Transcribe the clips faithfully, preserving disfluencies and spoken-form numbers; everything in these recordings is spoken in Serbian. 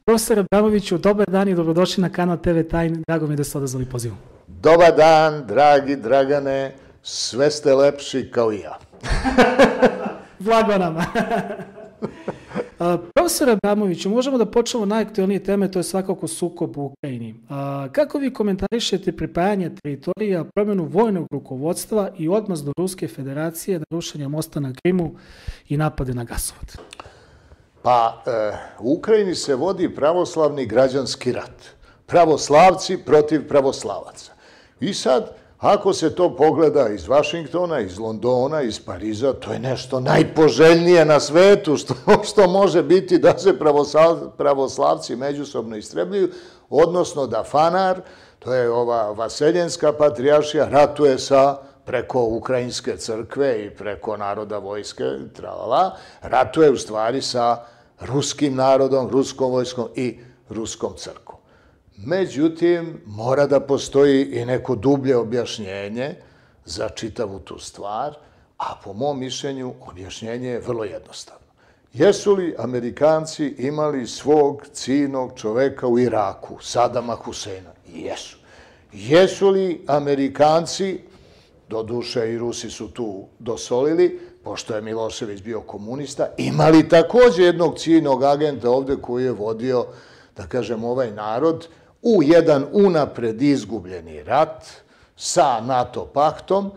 Profesor Abramoviću, dobar dan i dobrodošli na kanal te ve Time. Drago mi je da ste odazvali pozivu. Dobar dan, dragi Dragane, sve ste lepši kao i ja. Blago nama. Profesor Abramoviću, možemo da počnemo najaktuelnije teme, to je svakako sukob u Ukrajini. Kako vi komentarišete pripajanje teritorija, promjenu vojnog rukovodstva i odmazdu Ruske federacije na rušenje mosta na Krimu i napade na gasovod? Pa, u Ukrajini se vodi pravoslavni građanski rat. Pravoslavci protiv pravoslavaca. I sad, ako se to pogleda iz Vašingtona, iz Londona, iz Pariza, to je nešto najpoželjnije na svetu što može biti da se pravoslavci međusobno istrebljuju, odnosno da Fanar, to je ova vaseljenska patrijaršija, ratuje sa preko Ukrajinske crkve i preko naroda vojske, tralala, ratuje u stvari sa ruskim narodom, ruskom vojskom i ruskom crkvom. Međutim, mora da postoji i neko dublje objašnjenje za čitavu tu stvar, a po mom mišljenju objašnjenje je vrlo jednostavno. Jesu li Amerikanci imali svog ciljnog čoveka u Iraku, Sadama Huseina? Jesu. Jesu li Amerikanci, doduše i Rusi su tu dosolili, pošto je Milošević bio komunista, imali također jednog ciljnog agenta ovde koji je vodio, da kažem, ovaj narod u jedan unapred izgubljeni rat sa NATO paktom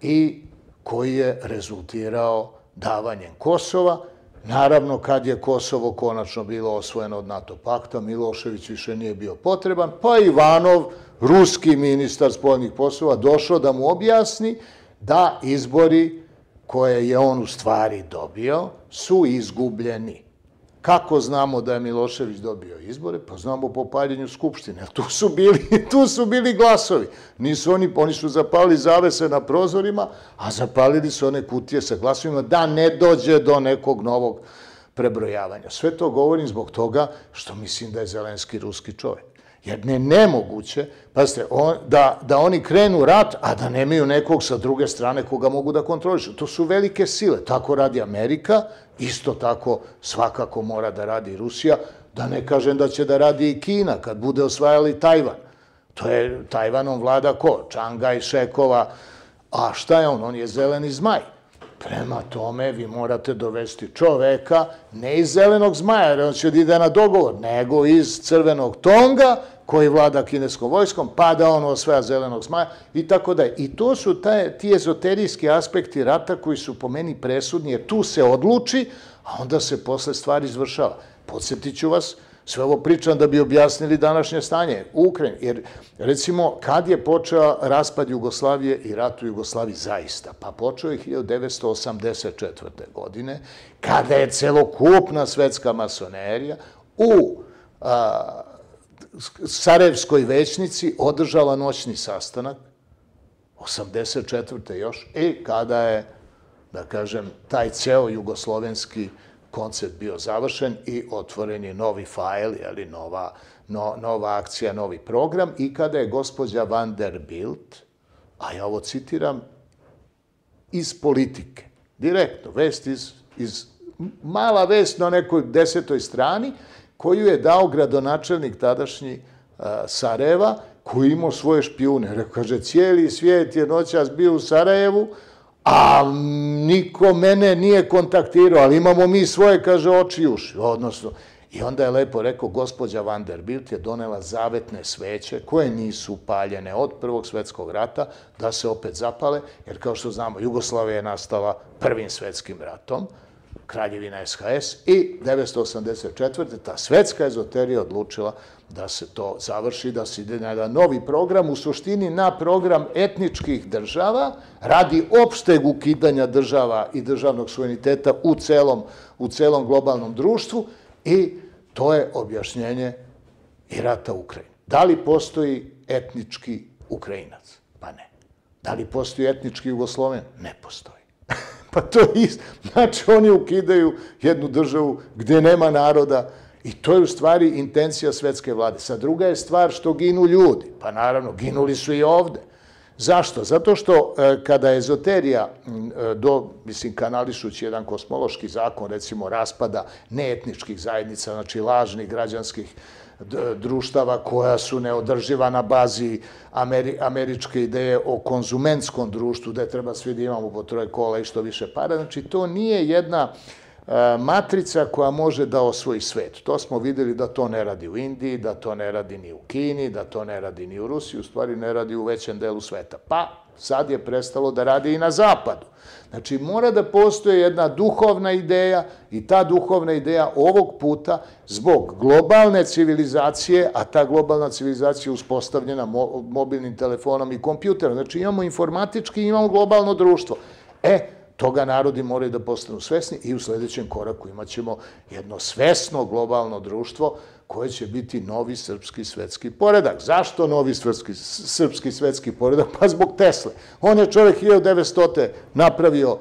i koji je rezultirao davanjem Kosova. Naravno, kad je Kosovo konačno bilo osvojeno od NATO pakta, Milošević više nije bio potreban, pa Ivanov, ruski ministar spoljnih poslova, došao da mu objasni da izbori koje je on u stvari dobio su izgubljeni. Kako znamo da je Milošević dobio izbore? Pa znamo po paljenju Skupštine. Tu su bili, tu su bili glasovi. Nisu oni, oni su zapalili zavese na prozorima, a zapalili su one kutije sa glasovima da ne dođe do nekog novog prebrojavanja. Sve to govorim zbog toga što mislim da je Zelenski ruski čovjek. Jer ne nemoguće, pazite, da, da oni krenu rat, a da nemaju nekog sa druge strane koga mogu da kontrolišu. To su velike sile. Tako radi Amerika, isto tako svakako mora da radi i Rusija, da ne kažem da će da radi i Kina kad bude osvajali Tajvan. To je, Tajvanom vlada ko? Čangaj, Šekova. A šta je on? On je zeleni zmaj. Prema tome, vi morate dovesti čoveka, ne iz zelenog zmaja, jer on će da ide na dogovor, nego iz crvenog tonga, koji vlada kineskom vojskom, pa da on osvaja zelenog zmaja i tako da je. I to su taj, ti ezoterijski aspekti rata koji su po meni presudni, jer tu se odluči, a onda se posle stvari izvršava. Podsjetit ću vas, sve ovo pričam da bi objasnili današnje stanje u Ukrajini. Jer, recimo, kad je počeo raspad Jugoslavije i rat u Jugoslaviji zaista? Pa počeo je hiljadu devetsto osamdeset četvrte. godine, kada je celokupna svetska masonerija u a, Sarajevskoj većnici održala noćni sastanak, osamdeset četvrte još, i kada je, da kažem, taj ceo jugoslovenski koncept bio završen i otvoren je novi fajl, jeli, nova, no, nova akcija, novi program, i kada je gospođa Vanderbilt, a ja ovo citiram, iz Politike, direktno, vest iz, iz mala vest na nekoj desetoj strani, koju je dao gradonačelnik tadašnji a, Sarajeva, koji imao svoje špijune. Rekao, kaže, cijeli svijet je noćas bio u Sarajevu, a niko mene nije kontaktirao, ali imamo mi svoje, kaže, oči i uši. Odnosno, i onda je lepo rekao, gospođa Vanderbilt je donela zavetne sveće, koje nisu paljene od Prvog svetskog rata, da se opet zapale, jer kao što znamo, Jugoslavija je nastala Prvim svetskim ratom, Kraljevina es ha es, i devetsto osamdeset četvrte. ta svetska ezoterija odlučila da se to završi, da se ide na jedan novi program, u suštini na program etničkih država, radi opšteg ukidanja država i državnog suvereniteta u celom, u celom globalnom društvu, i to je objašnjenje i rata u Ukrajini. Da li postoji etnički Ukrajinac? Pa ne. Da li postoji etnički Jugosloven? Ne postoji. Pa to je isto. Znači, oni ukidaju jednu državu gdje nema naroda i to je u stvari intencija svetske vlade. Sad, druga je stvar što ginu ljudi. Pa naravno, ginuli su i ovde. Zašto? Zato što kada ezoterija, do, mislim, kanališući jedan kosmološki zakon, recimo raspada neetničkih zajednica, znači lažnih građanskih društava koja su neodrživa na bazi Ameri, američke ideje o konzumentskom društvu, gde treba svi da imamo po troje kola i što više para. Znači, to nije jedna matrica koja može da osvoji svet. To smo videli da to ne radi u Indiji, da to ne radi ni u Kini, da to ne radi ni u Rusiji, u stvari ne radi u većem delu sveta. Pa sad je prestalo da radi i na zapadu. Znači, mora da postoje jedna duhovna ideja i ta duhovna ideja ovog puta zbog globalne civilizacije, a ta globalna civilizacija je uspostavljena mobilnim telefonom i kompjuterom. Znači, imamo informatički i imamo globalno društvo. E, toga narodi moraju da postanu svesni i u sledećem koraku imat ćemo jedno svesno globalno društvo koje će biti novi srpski svetski poredak. Zašto novi srpski, srpski svetski poredak? Pa zbog Tesle. On je čovjek hiljadu devetstote napravio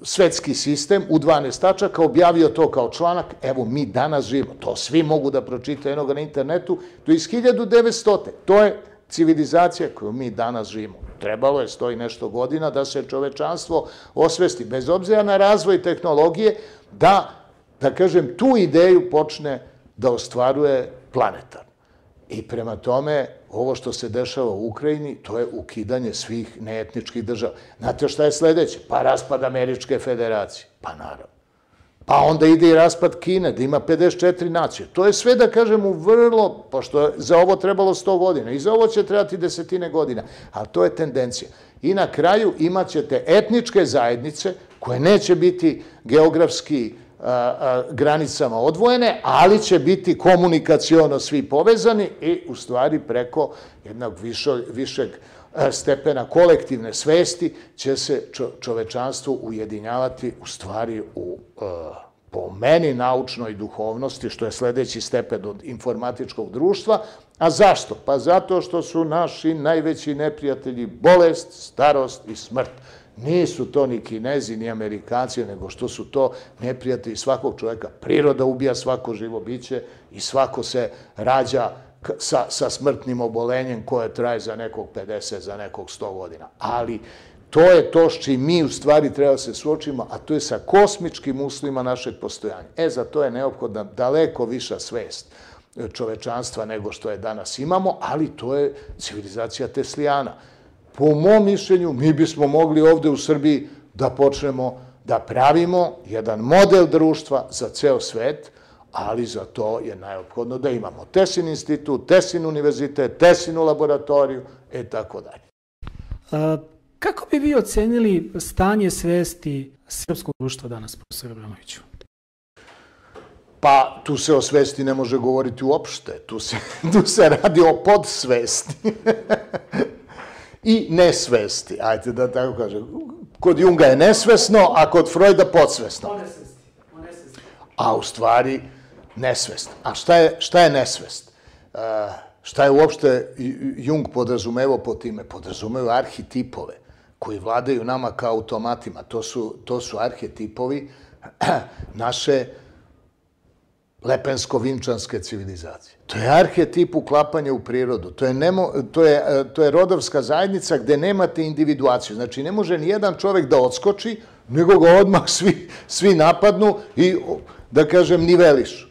svetski sistem u dvanaest tačaka, objavio to kao članak. Evo, mi danas živimo. To svi mogu da pročitaju enoga na internetu. To je iz hiljadu devetstote. To je civilizacija koju mi danas živimo. Trebalo je sto i nešto godina da se čovečanstvo osvesti, bez obzira na razvoj tehnologije, da, da kažem, tu ideju počne da ostvaruje planetar. I prema tome, ovo što se dešava u Ukrajini, to je ukidanje svih neetničkih država. Znate šta je sledeće? Pa raspad Američke federacije. Pa naravno. Pa onda ide i raspad Kine, da ima pedeset četiri nacije. To je sve, da kažem, u vrlo, pošto je za ovo trebalo sto godina, i za ovo će trebati desetine godina, ali to je tendencija. I na kraju imat ćete etničke zajednice koje neće biti geografski granicama odvojene, ali će biti komunikaciono svi povezani i u stvari preko jednog višeg stepena kolektivne svesti će se čovečanstvo ujedinjavati u stvari u, po meni, naučnoj duhovnosti, što je sledeći stepen od informatičkog društva. A zašto? Pa zato što su naši najveći neprijatelji bolest, starost i smrt. Nisu to ni Kinezi, ni Amerikanci, nego što su to neprijatelji svakog čoveka. Priroda ubija svako živo biće i svako se rađa sa, sa smrtnim obolenjem koje traje za nekog pedeset, za nekog sto godina. Ali to je to s čim mi u stvari treba se suočimo, a to je sa kosmičkim uslovima našeg postojanja. E, za to je neophodna daleko viša svest čovečanstva nego što je danas imamo, ali to je civilizacija Teslijana. Po mom mišljenju, mi bismo mogli ovde u Srbiji da počnemo da pravimo jedan model društva za ceo svet, ali za to je neophodno da imamo Tesin institut, Tesin univerzitet, Tesinu laboratoriju i tako dalje. Kako bi vi ocenili stanje svesti srpskog društva danas, profesor Abramoviću? Pa, tu se o svesti ne može govoriti uopšte. Tu se, tu se radi o podsvesti. I nesvesti, ajte da tako kažem. Kod Junga je nesvesno, a kod Freuda podsvesno. A u stvari nesvest. A šta je, šta je nesvest? Uh, šta je uopšte Jung podrazumevao po time? Podrazumevao arhetipove koji vladaju nama kao automatima. To su, to su arhetipovi naše lepensko-vinčanske civilizacije. To je arhetip uklapanja u prirodu. To je, nemo, to, je, to je rodovska zajednica gde nemate individuaciju. Znači, ne može ni jedan čovek da odskoči, nego ga odmah svi, svi napadnu i, da kažem, nivelišu.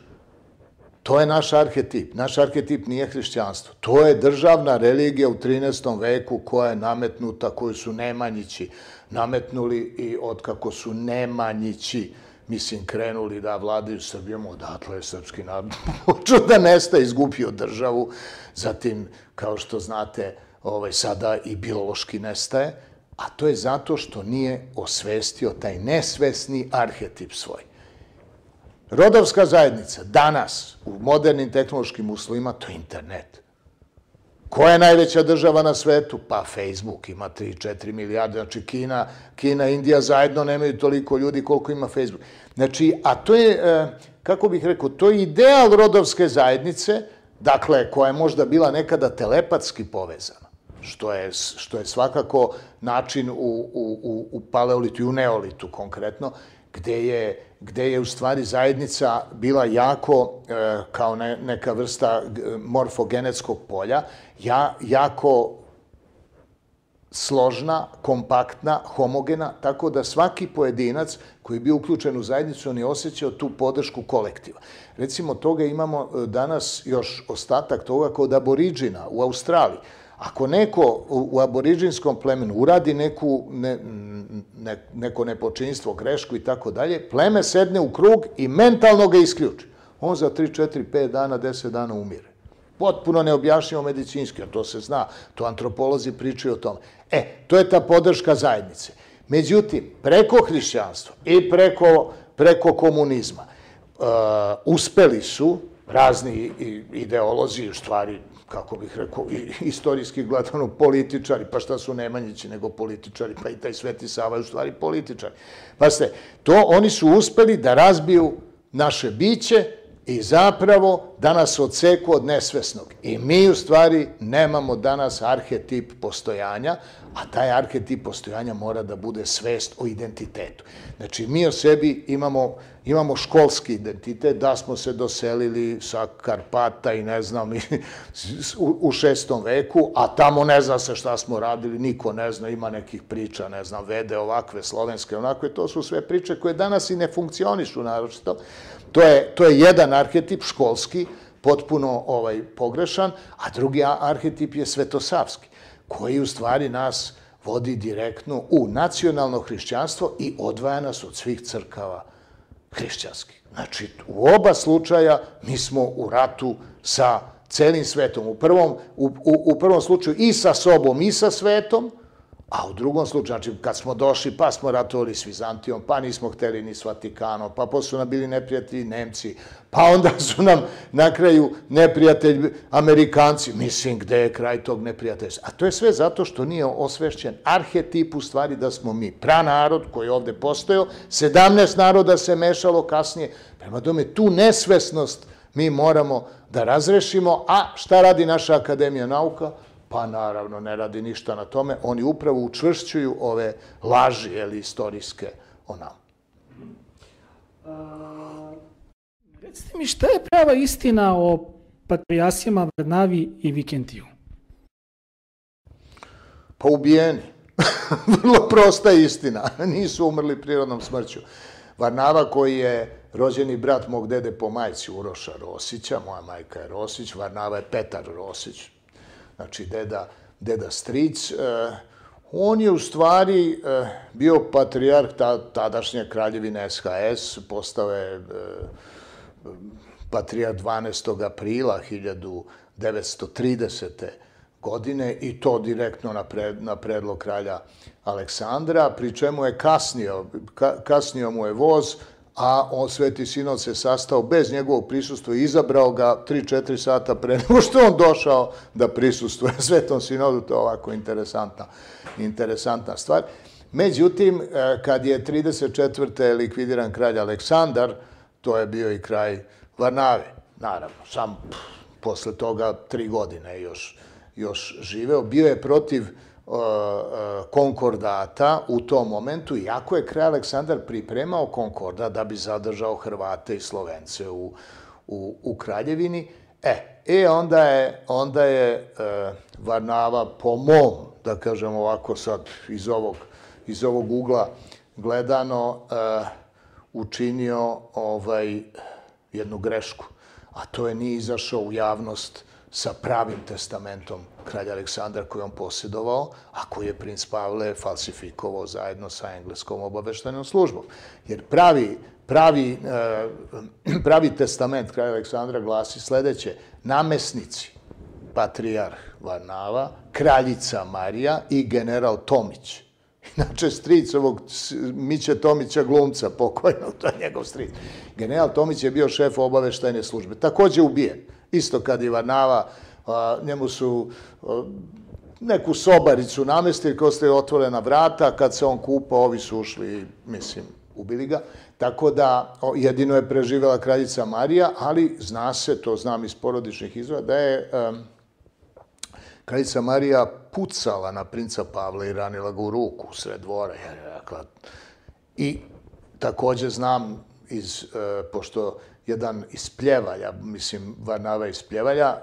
To je naš arhetip. Naš arhetip nije hrišćanstvo. To je državna religija u trinaestom veku koja je nametnuta, koju su Nemanjići nametnuli i otkako su Nemanjići mislim, krenuli da vladaju Srbijom, odatle je srpski narod počeo da nestaje, izgubio državu, zatim, kao što znate, ovaj, sada i biološki nestaje, a to je zato što nije osvestio taj nesvesni arhetip svoj. Rodovska zajednica danas u modernim tehnološkim uslovima to je internet. Koja je najveća država na svetu? Pa Facebook ima tri do četiri milijarde, znači Kina, Kina i Indija zajedno nemaju toliko ljudi koliko ima Facebook. Znači, a to je, kako bih rekao, to je ideal rodovske zajednice, dakle, koja je možda bila nekada telepatski povezana, što je, što je svakako način u, u, u paleolitu i u neolitu konkretno, gde je, gde je u stvari zajednica bila jako, kao ne, neka vrsta morfogenetskog polja, ja, jako složna, kompaktna, homogena, tako da svaki pojedinac koji je bio uključen u zajednicu, on je osjećao tu podršku kolektiva. Recimo, toga imamo danas još ostatak toga kod aboriđina u Australiji. Ako neko u aboriđinskom plemenu uradi neku, ne, ne, neko nepočinstvo, grešku i tako dalje, pleme sedne u krug i mentalno ga isključi. On za tri, četiri, pet dana, deset dana umire. Potpuno neobjašnjivo medicinski, a to se zna, to antropolozi pričaju o tome. E, to je ta podrška zajednice. Međutim, preko hrišćanstva i preko, preko komunizma uh, uspeli su razni ideolozi, u stvari, kako bih rekao, istorijski gledano političari, pa šta su Nemanjići nego političari, pa i taj Sveti Sava je u stvari političari. Pa ste, to oni su uspeli da razbiju naše biće i zapravo da nas odseku od nesvesnog. I mi u stvari nemamo danas arhetip postojanja, a taj arhetip postojanja mora da bude svest o identitetu. Znači, mi o sebi imamo, imamo školski identitet, da smo se doselili sa Karpata i ne znam, u šestom veku, a tamo ne zna se šta smo radili, niko ne zna, ima nekih priča, ne znam, vede ovakve, slovenske, onakve, to su sve priče koje danas i ne funkcionišu naročito. To je, to je jedan arhetip školski, potpuno ovaj, pogrešan, a drugi arhetip je svetosavski, koji u stvari nas vodi direktno u nacionalno hrišćanstvo i odvaja nas od svih crkava hrišćanskih. Znači, u oba slučaja mi smo u ratu sa celim svetom. U prvom, u, u, u prvom slučaju i sa sobom i sa svetom, a u drugom slučaju, znači, kad smo došli, pa smo ratovali s Vizantijom, pa nismo hteli ni s Vatikanom, pa posle su nam bili neprijatelji Nemci, pa onda su nam na kraju neprijatelji Amerikanci. Mislim, gde je kraj tog neprijateljstva? A to je sve zato što nije osvešćen arhetip u stvari da smo mi pranarod koji je ovde postojao, sedamnaest naroda se mešalo kasnije. Prema tome, tu nesvesnost mi moramo da razrešimo, a šta radi naša Akademija nauka? Pa naravno ne radi ništa na tome, oni upravo učvršćuju ove laži, jeli, istorijske o nama. A, recite mi, šta je prava istina o patrijasima Varnavi i Vikentiju? Pa ubijeni. Vrlo prosta istina. Nisu umrli prirodnom smrću. Varnava, koji je rođeni brat mog dede po majci Uroša Rosića, moja majka je Rosić, Varnava je Petar Rosić, znači deda, deda stric, on je u stvari bio patrijarh tadašnje kraljevine S H S, postao je patrijarh dvanaestog aprila hiljadu devetsto tridesete godine i to direktno na, pred, na predlog kralja Aleksandra, pri čemu je kasnio, ka, kasnio mu je voz, a on, Sveti Sinod se sastao bez njegovog prisustva i izabrao ga tri četiri sata pre nego što on došao da prisustvuje Svetom Sinodu. To je ovako interesantna, interesantna stvar. Međutim, kad je trideset četvrte likvidiran kralj Aleksandar, to je bio i kraj Varnave, naravno. Sam pff, posle toga tri godine još, još živeo. Bio je protiv konkordata u tom momentu, iako je kralj Aleksandar pripremao konkordat da bi zadržao Hrvate i Slovence u, u, u kraljevini. E, e onda je, onda je e, Varnava po mom, da kažem ovako sad iz ovog, iz ovog ugla gledano, e, učinio ovaj, jednu grešku, a to je nije izašao u javnost sa pravim testamentom kralja Aleksandra koji on posjedovao, a koji je princ Pavle falsifikovao zajedno sa engleskom obaveštajnom službom. Jer pravi, pravi, pravi testament kralja Aleksandra glasi sledeće: namesnici, patrijarh Varnava, kraljica Marija i general Tomić. Inače, stric ovog Miće Tomića, glumca pokojnog, to je njegov stric. General Tomić je bio šef obaveštajne službe, takođe ubijen. Isto kad i Varnava, njemu su neku sobaricu namestili, kao ste otvorena vrata, kad se on kupao, ovi su ušli, mislim, ubili ga. Tako da, jedino je preživela kraljica Marija, ali zna se, to znam iz porodičnih izvora, da je kraljica Marija pucala na princa Pavla i ranila ga u ruku u sred dvora. I takođe znam, iz, pošto jedan iz Pljevalja, mislim Varnava iz Pljevalja,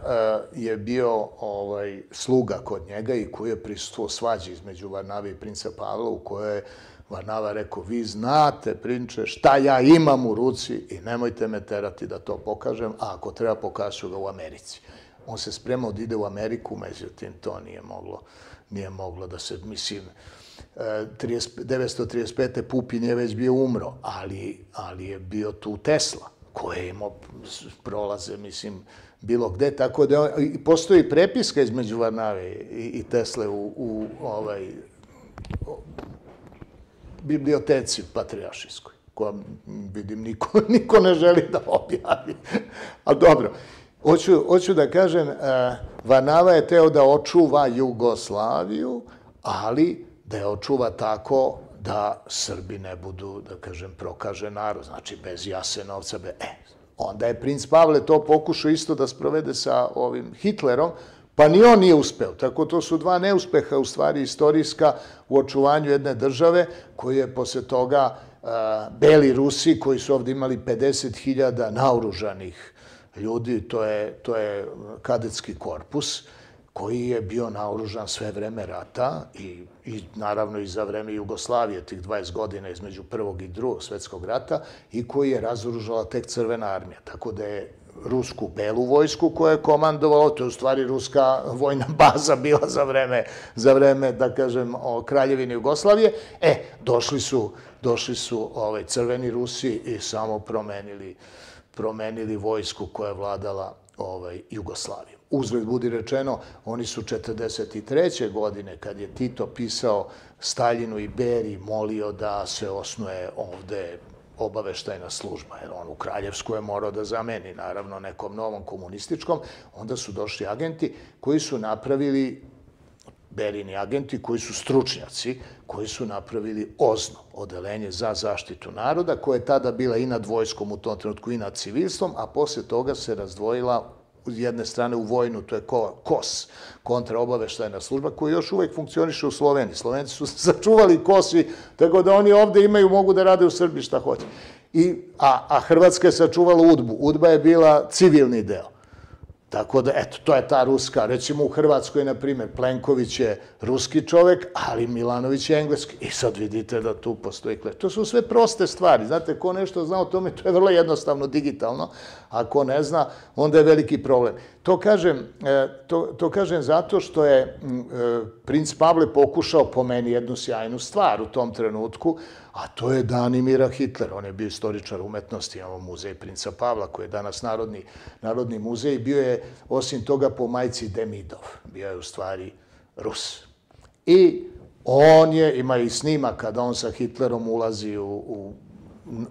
je bio ovaj, sluga kod njega i koji je prisustuo svađi između Varnave i princa Pavla, u kojoj je Varnava rekao, vi znate, prinče, šta ja imam u ruci i nemojte me terati da to pokažem, a ako treba pokažu ga u Americi. On se spremao da ide u Ameriku, međutim, to nije moglo, nije moglo da se, mislim, devetsto trideset pete. Pupin je već bio umro, ali, ali je bio tu Tesla, koji je imao prolaze, mislim, bilo gde, tako da postoji prepiska između Varnave i, i Tesle u, u ovaj, biblioteci patrijaršijskoj, koja, vidim, niko, niko ne želi da objavi. Ali dobro, hoću, hoću da kažem, uh, Varnava je teo da očuva Jugoslaviju, ali da je očuva tako da Srbi ne budu, da kažem, prokaže narod, znači bez Jasenovca. Be... E, onda je princ Pavle to pokušao isto da sprovede sa ovim Hitlerom, pa ni on nije uspeo. Tako to su dva neuspeha, u stvari istorijska, u očuvanju jedne države, koji je posle toga uh, Beli Rusi, koji su ovdje imali pedeset hiljada naoružanih ljudi, to je, to je kadetski korpus, koji je bio naoružan sve vreme rata i, i naravno i za vreme Jugoslavije, tih dvadeset godina između prvog i drugog svetskog rata, i koji je razoružala tek Crvena armija. Tako da je rusku belu vojsku koja je komandovala, to je u stvari ruska vojna baza bila za vreme, za vreme, da kažem, o Kraljevine Jugoslavije. E, došli su, došli su ovaj, crveni Rusi i samo promenili, promenili vojsku koja je vladala ovaj, Jugoslavijom. Uzgled budi rečeno, oni su četrdeset treće godine, kad je Tito pisao Staljinu i Beriji, molio da se osnuje ovde obaveštajna služba, jer on u Kraljevsku je morao da zameni, naravno, nekom novom komunističkom, onda su došli agenti koji su napravili, Berini agenti, koji su stručnjaci, koji su napravili OZNO, Odelenje za zaštitu naroda, koja je tada bila i nad vojskom u tom trenutku i nad civilstvom, a posle toga se razdvojila s jedne strane u vojnu, to je KOS, kontraobaveštajna služba, koja još uvek funkcioniše u Sloveniji. Slovenci su sačuvali KOS, tako da oni ovde imaju, mogu da rade u Srbiji šta hoće. I, a, a Hrvatska je sačuvala UDBU. UDBA je bila civilni deo. Tako da, eto, to je ta ruska. Recimo u Hrvatskoj, na primjer, Plenković je ruski čovek, ali Milanović je engleski. I sad vidite da tu postoji kleš. To su sve proste stvari. Znate, ko nešto zna o tome, to je vrlo jednostavno digitalno. A ko ne zna, onda je veliki problem. To kažem, to, to kažem zato što je princ Pavle pokušao po meni jednu sjajnu stvar u tom trenutku, a to je dan Imira Hitlera. On je bio istoričar umetnosti, imamo muzej princa Pavla, koji je danas narodni, narodni muzej. Bio je, osim toga, po majci Demidov. Bio je u stvari Rus. I on je, ima i snima kada on sa Hitlerom ulazi u, u,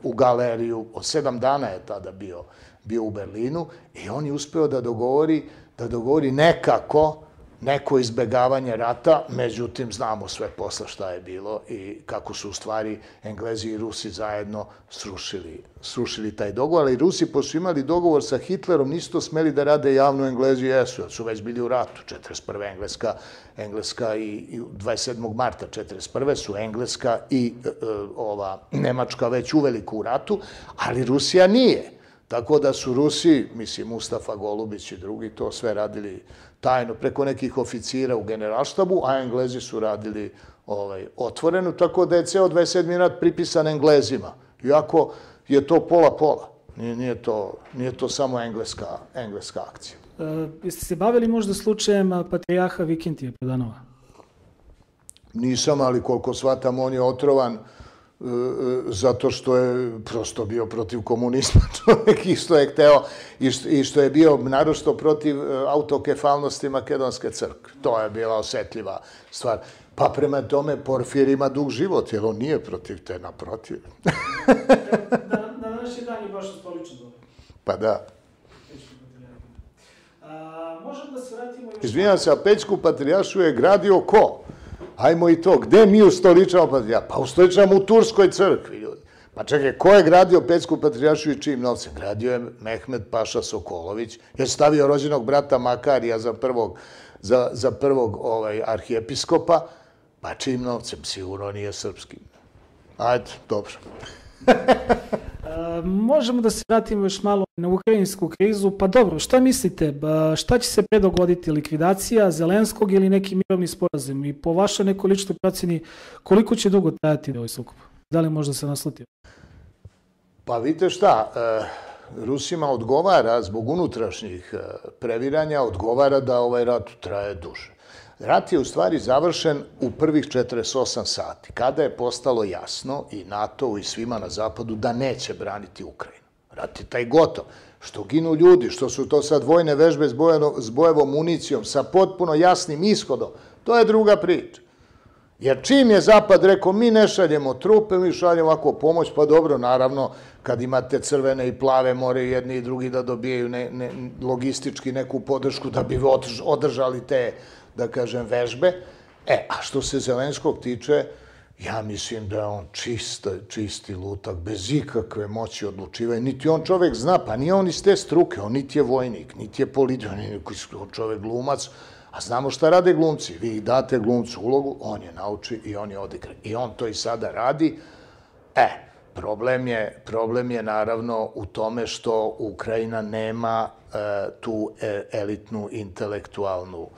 u galeriju. Od sedam dana je tada bio, bio u Berlinu i on je uspeo da dogovori, da dogovori nekako neko izbegavanje rata, međutim, znamo sve posle šta je bilo i kako su u stvari Englezi i Rusi zajedno srušili, srušili taj dogovor, ali Rusi, pošto su imali dogovor sa Hitlerom, nisu to smeli da rade javno, Englezi jesu, jer su već bili u ratu. četrdeset prve. Engleska, Engleska i, i dvadeset sedmog marta četrdeset prve su Engleska i e, ova Nemačka već uveliko u ratu, ali Rusija nije. Tako da su Rusi, mislim, Mustafa Golubić i drugi, to sve radili tajno preko nekih oficira u generalštabu, a Englezi su radili ovaj, otvoreno, tako da je ceo dvadeset sedmi rat pripisan Englezima. Iako je to pola-pola. Nije, nije, to, nije to samo engleska, engleska akcija. E, jeste se bavili možda slučajem patrijarha Vikintija Pedanova? Nisam, ali koliko shvatam, on je otrovan zato što je prosto bio protiv komunizma čovjek i što je hteo i što je bio naročito protiv autokefalnosti Makedonske crkve. To je bila osetljiva stvar. Pa prema tome Porfir ima dug život, jer on nije protiv te, naprotiv. Na današnji dan je baš stoličan dobro. Pa da. Možemo da se vratimo... Izvinjam se, a Pećku patrijaršiju je gradio ko? Hajmo i to. Gde mi ustoličamo patrijaršiju? Pa ustoličamo u Turskoj crkvi, ljudi. Pa čekaj, ko je gradio Pećku patrijaršiju i čijim novcem? Gradio je Mehmed Paša Sokolović. Je stavio rođenog brata Makarija za prvog, za, za prvog ovaj, arhijepiskopa. Pa čijim novcem? Sigurno nije srpskim. Ajde, dobro. Možemo da se vratimo još malo na ukrajinsku krizu. Pa dobro, šta mislite? Šta će se pre dogoditi? Likvidacija Zelenskog ili neki mirovni sporazum? I po vašoj nekoj ličnoj procjeni, koliko će dugo trajati ovaj sukob? Da li možda se naslutio? Pa vidite šta, Rusima odgovara zbog unutrašnjih previranja, odgovara da ovaj rat traje duže. Rat je u stvari završen u prvih četrdeset osam sati, kada je postalo jasno i NATO-u i svima na zapadu da neće braniti Ukrajinu. Rat je taj gotov. Što ginu ljudi, što su to sad vojne vežbe s bojevom municijom, sa potpuno jasnim ishodom, to je druga priča. Jer čim je Zapad rekao, mi ne šaljemo trupe, mi šaljemo ovako pomoć, pa dobro, naravno, kad imate crvene i plave, moraju jedni i drugi da dobijaju logistički neku podršku da bi održali te, da kažem, vežbe. E, a što se Zelenskog tiče, ja mislim da je on čisti lutak, bez ikakve moći odlučivanja. Niti on čovek zna, pa nije on iz te struke, on niti je vojnik, niti je političar, on čovek glumac, a znamo šta rade glumci. Vi ih date glumcu ulogu, on je nauči i on je odigra. I on to i sada radi. E, problem je naravno u tome što Ukrajina nema tu elitnu intelektualnu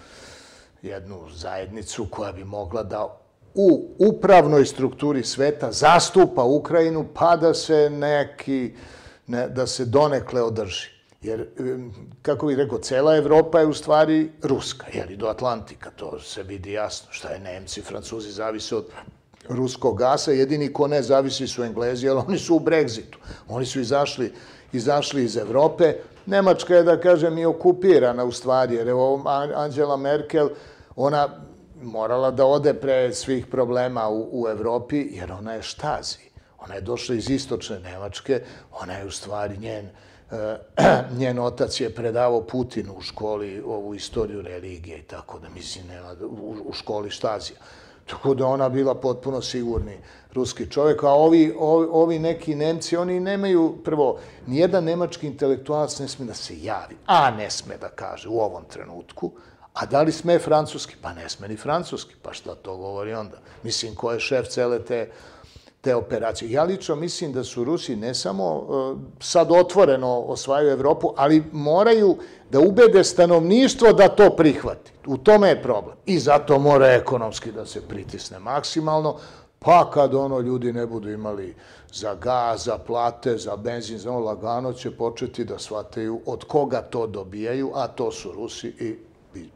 jednu zajednicu koja bi mogla da u upravnoj strukturi sveta zastupa Ukrajinu pa da se neki, da se donekle održi. Jer, kako bih rekao, cela Evropa je u stvari ruska, jer i do Atlantika, to se vidi jasno. Šta je Nemci, Francuzi zavise od ruskog gasa, jedini ko ne zavisi su Englezi, jer oni su u Brexitu. Oni su izašli, izašli iz Evrope. Nemačka je, da kažem, i okupirana u stvari, jer evo Angela Merkel, ona morala da ode pre svih problema u Evropi, jer ona je štazi. Ona je došla iz istočne Nemačke, ona je u stvari njen njen otac je predavao Putinu u školi ovu istoriju religije i tako da mislim nema u školi štazija. Tako da ona bila potpuno sigurni ruski čovjek, a ovi, ovi neki Nemci, oni nemaju, prvo, nijedan nemački intelektualac ne sme da se javi, a ne sme da kaže u ovom trenutku, a da li sme francuski? Pa ne sme ni francuski, pa šta to govori onda? Mislim, ko je šef cele te te operacije. Ja lično mislim da su Rusi ne samo sad otvoreno osvajaju Evropu, ali moraju da ubede stanovništvo da to prihvati. U tome je problem. I zato mora ekonomski da se pritisne maksimalno, pa kad ono ljudi ne budu imali za gaz, za plate, za benzin, za ono lagano će početi da shvataju od koga to dobijaju, a to su Rusi i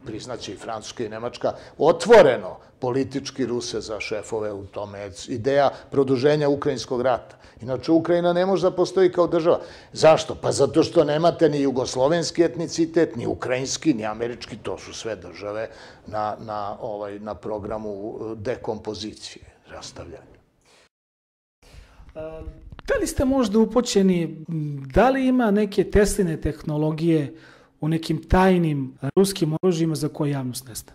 priznaće i Francuska i Nemačka, otvoreno politički Ruse za šefove u tome. Ideja produženja ukrajinskog rata. Inače, Ukrajina ne može da postoji kao država. Zašto? Pa zato što nemate ni jugoslovenski etnicitet, ni ukrajinski, ni američki. To su sve države na programu dekompozicije, rastavljanja. Da li ste možda upoćeni, da li ima neke Tesline tehnologije u nekim tajnim ruskim oružjima za koje javnost ne zna?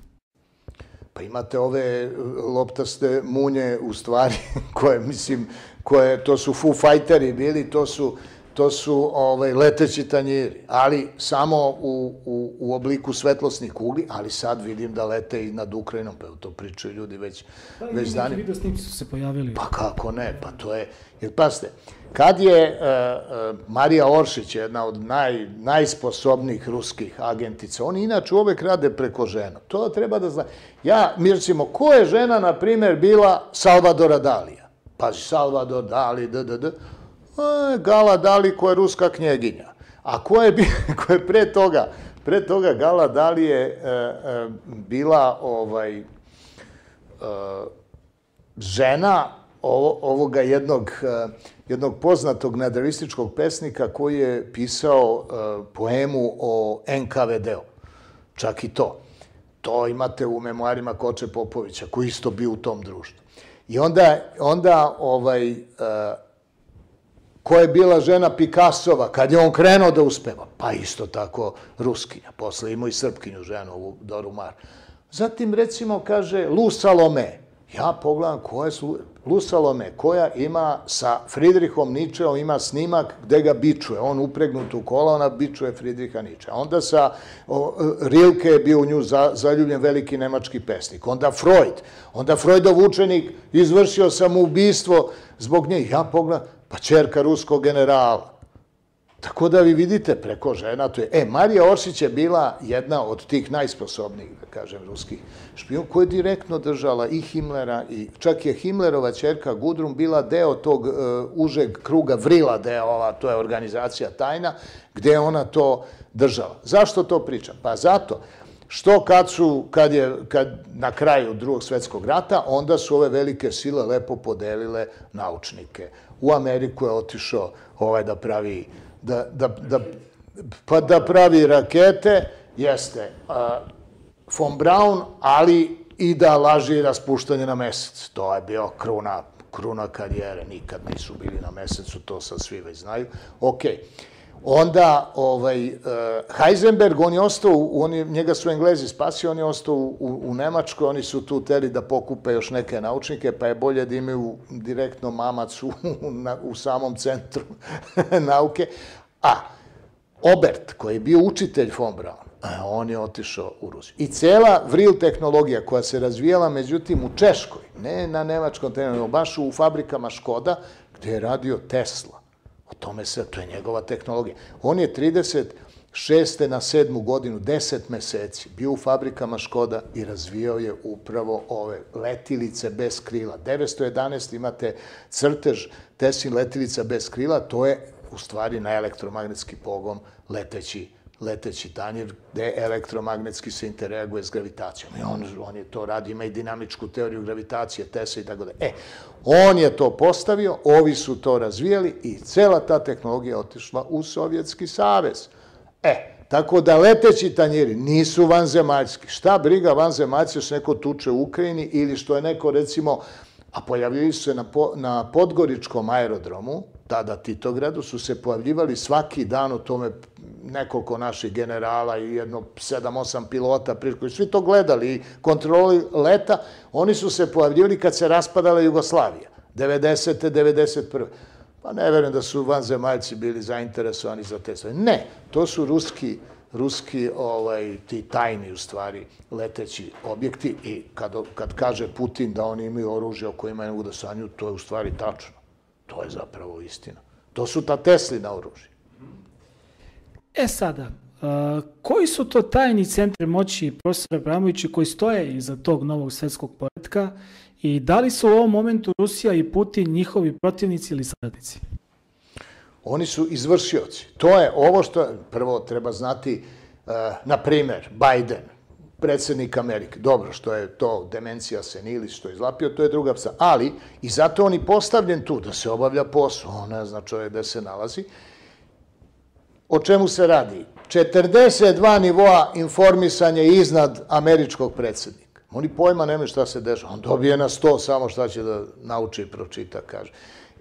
Pa imate ove loptaste munje u stvari koje, mislim, koje, to su Foo Fighteri bili, to su, to su ovaj, leteći tanjiri, ali samo u, u, u obliku svetlosnih kugli, ali sad vidim da lete i nad Ukrajinom, pa to pričaju ljudi već, pa, već danima. Neki video snimci su se pojavili. Pa kako ne, pa to je, jer pasite, kad je uh, uh, Marija Oršić, jedna od naj, najsposobnijih ruskih agentica, oni inače uvek rade preko žena. To treba da zna. Ja, mi recimo, ko je žena, na primjer, bila Salvadora Dalija? Pazi, Salvador Dali, d, d, d. A, Gala Dali, koja je ruska knjeginja. A ko je, ko je pre toga? Pre toga Gala Dali je uh, uh, bila ovaj, uh, žena ovoga jednog, jednog poznatog nadrealističkog pesnika koji je pisao poemu o en ka ve de-u. Čak i to. To imate u memoarima Koče Popovića, koji isto bio u tom društvu. I onda, onda ovaj, ko je bila žena Picassova, kad je on krenuo da uspeva? Pa isto tako Ruskinja. Posle imao i Srpkinju ženu, ovu Doru Mar. Zatim, recimo, kaže Lu Salome. Ja pogledam ko je Lu Salome, koja ima sa Fridrihom Ničeom, ima snimak gde ga bičuje. On upregnut u kola, ona bičuje Fridriha Ničea. Onda sa Rilke je bio u nju zaljubljen veliki nemački pesnik. Onda Freud. Onda Freudov učenik izvršio samoubistvo zbog nje. Ja pogledam, pa ćerka ruskog generala. Tako da vi vidite preko žena, to je... E, Marija Oršić je bila jedna od tih najsposobnijih, da kažem, ruskih špijuna, koja je direktno držala i Himmlera, i čak je Himmlerova ćerka Gudrun bila deo tog uh, užeg kruga Vrila deo, to je organizacija tajna, gde je ona to držala. Zašto to pričam? Pa zato što kad su, kad je, kad na kraju Drugog svjetskog rata, onda su ove velike sile lepo podelile naučnike. U Ameriku je otišao ovaj da pravi Da, da, da, pa da pravi rakete, jeste uh, von Braun, ali i da laži raspuštanje na mesec. To je bio kruna, kruna karijere, nikad nisu bili na mesecu, to sad svi već znaju. Ok, onda ovaj, uh, Heisenberg, on je ostao, on je, njega su Englezi spasio, on je ostao u, u Nemačkoj, oni su tu teli da pokupe još neke naučnike, pa je bolje da imaju direktno mamac u, na, u samom centru nauke. A Obert, koji je bio učitelj von Braun, on je otišao u Rusiju. I cela Vril tehnologija koja se razvijala, međutim, u Češkoj, ne na nemačkom terenu, baš u fabrikama Škoda, gde je radio Tesla. O tome se, to je njegova tehnologija. On je trideset šeste na sedmu godinu, deset meseci, bio u fabrikama Škoda i razvijao je upravo ove letilice bez krila. devetsto jedanaest imate crtež Teslin letilica bez krila, to je u stvari na elektromagnetski pogon leteći, leteći tanjir, gde elektromagnetski se interaguje s gravitacijom. I on, on je to radi, ima i dinamičku teoriju gravitacije, Tesla i tako da. E, on je to postavio, ovi su to razvijali i cela ta tehnologija otišla u Sovjetski savez. E, tako da leteći tanjiri nisu vanzemaljski. Šta briga vanzemaljci što neko tuče u Ukrajini ili što je neko, recimo, a pojavljili su se na, po, na Podgoričkom aerodromu, tada Titogradu, su se pojavljivali svaki dan u tome nekoliko naših generala i jedno sedam osam pilota, koji svi to gledali i kontroli leta, oni su se pojavljivali kad se raspadala Jugoslavija, devedesete, devedeset prve. Pa ne verujem da su vanzemaljci bili zainteresovani za te stvari. Ne, to su ruski, ruski ovaj, ti tajni, u stvari, leteći objekti i kad, kad kaže Putin da oni imaju oružje o kojima ne mogu da sanju, to je u stvari tačno. To je zapravo istina. To su ta Teslina oružja. E sada, uh, koji su to tajni centri moći, profesor Abramović, koji stoje iza tog novog svjetskog poretka i da li su u ovom momentu Rusija i Putin njihovi protivnici ili saradnici? Oni su izvršioci. To je ovo što, prvo treba znati, uh, na primer, Biden, predsjednik Amerike. Dobro, što je to demencija senilis, što je izlapio, to je druga psa. Ali, i zato on i postavljen tu, da se obavlja posao. On ne zna čovjek gde se nalazi. O čemu se radi? četrdeset dva nivoa informisanja iznad američkog predsjednika. Oni pojma nemaju šta se dešava. On dobije na sto samo šta će da nauči i pročita, kaže.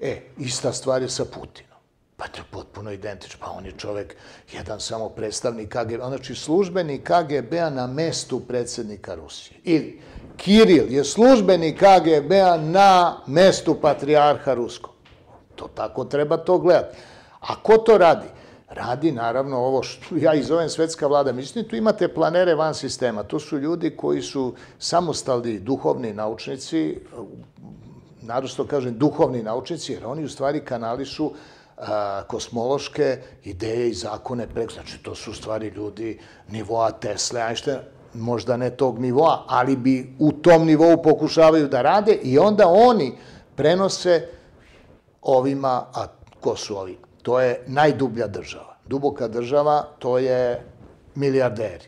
E, ista stvar je sa Putinom. Pa to je potpuno identično. Pa on je čovjek, jedan samo predstavnik K G B, znači službenik K G B-a na mestu predsjednika Rusije. Ili Kiril je službenik K G B-a na mestu patrijarha Ruskog. To tako treba to gledati. A ko to radi? Radi, naravno, ovo što ja i zovem svetska vlada. Mislim, tu imate planere van sistema. To su ljudi koji su samostalni duhovni naučnici, naročito kažem duhovni naučnici, jer oni u stvari kanališu a, kosmološke ideje i zakone preko. Znači, to su u stvari ljudi nivoa Tesle, Einsteina, možda ne tog nivoa, ali bi u tom nivou pokušavaju da rade i onda oni prenose ovima, a ko su ovi? To je najdublja država. Duboka država, to je milijarderi.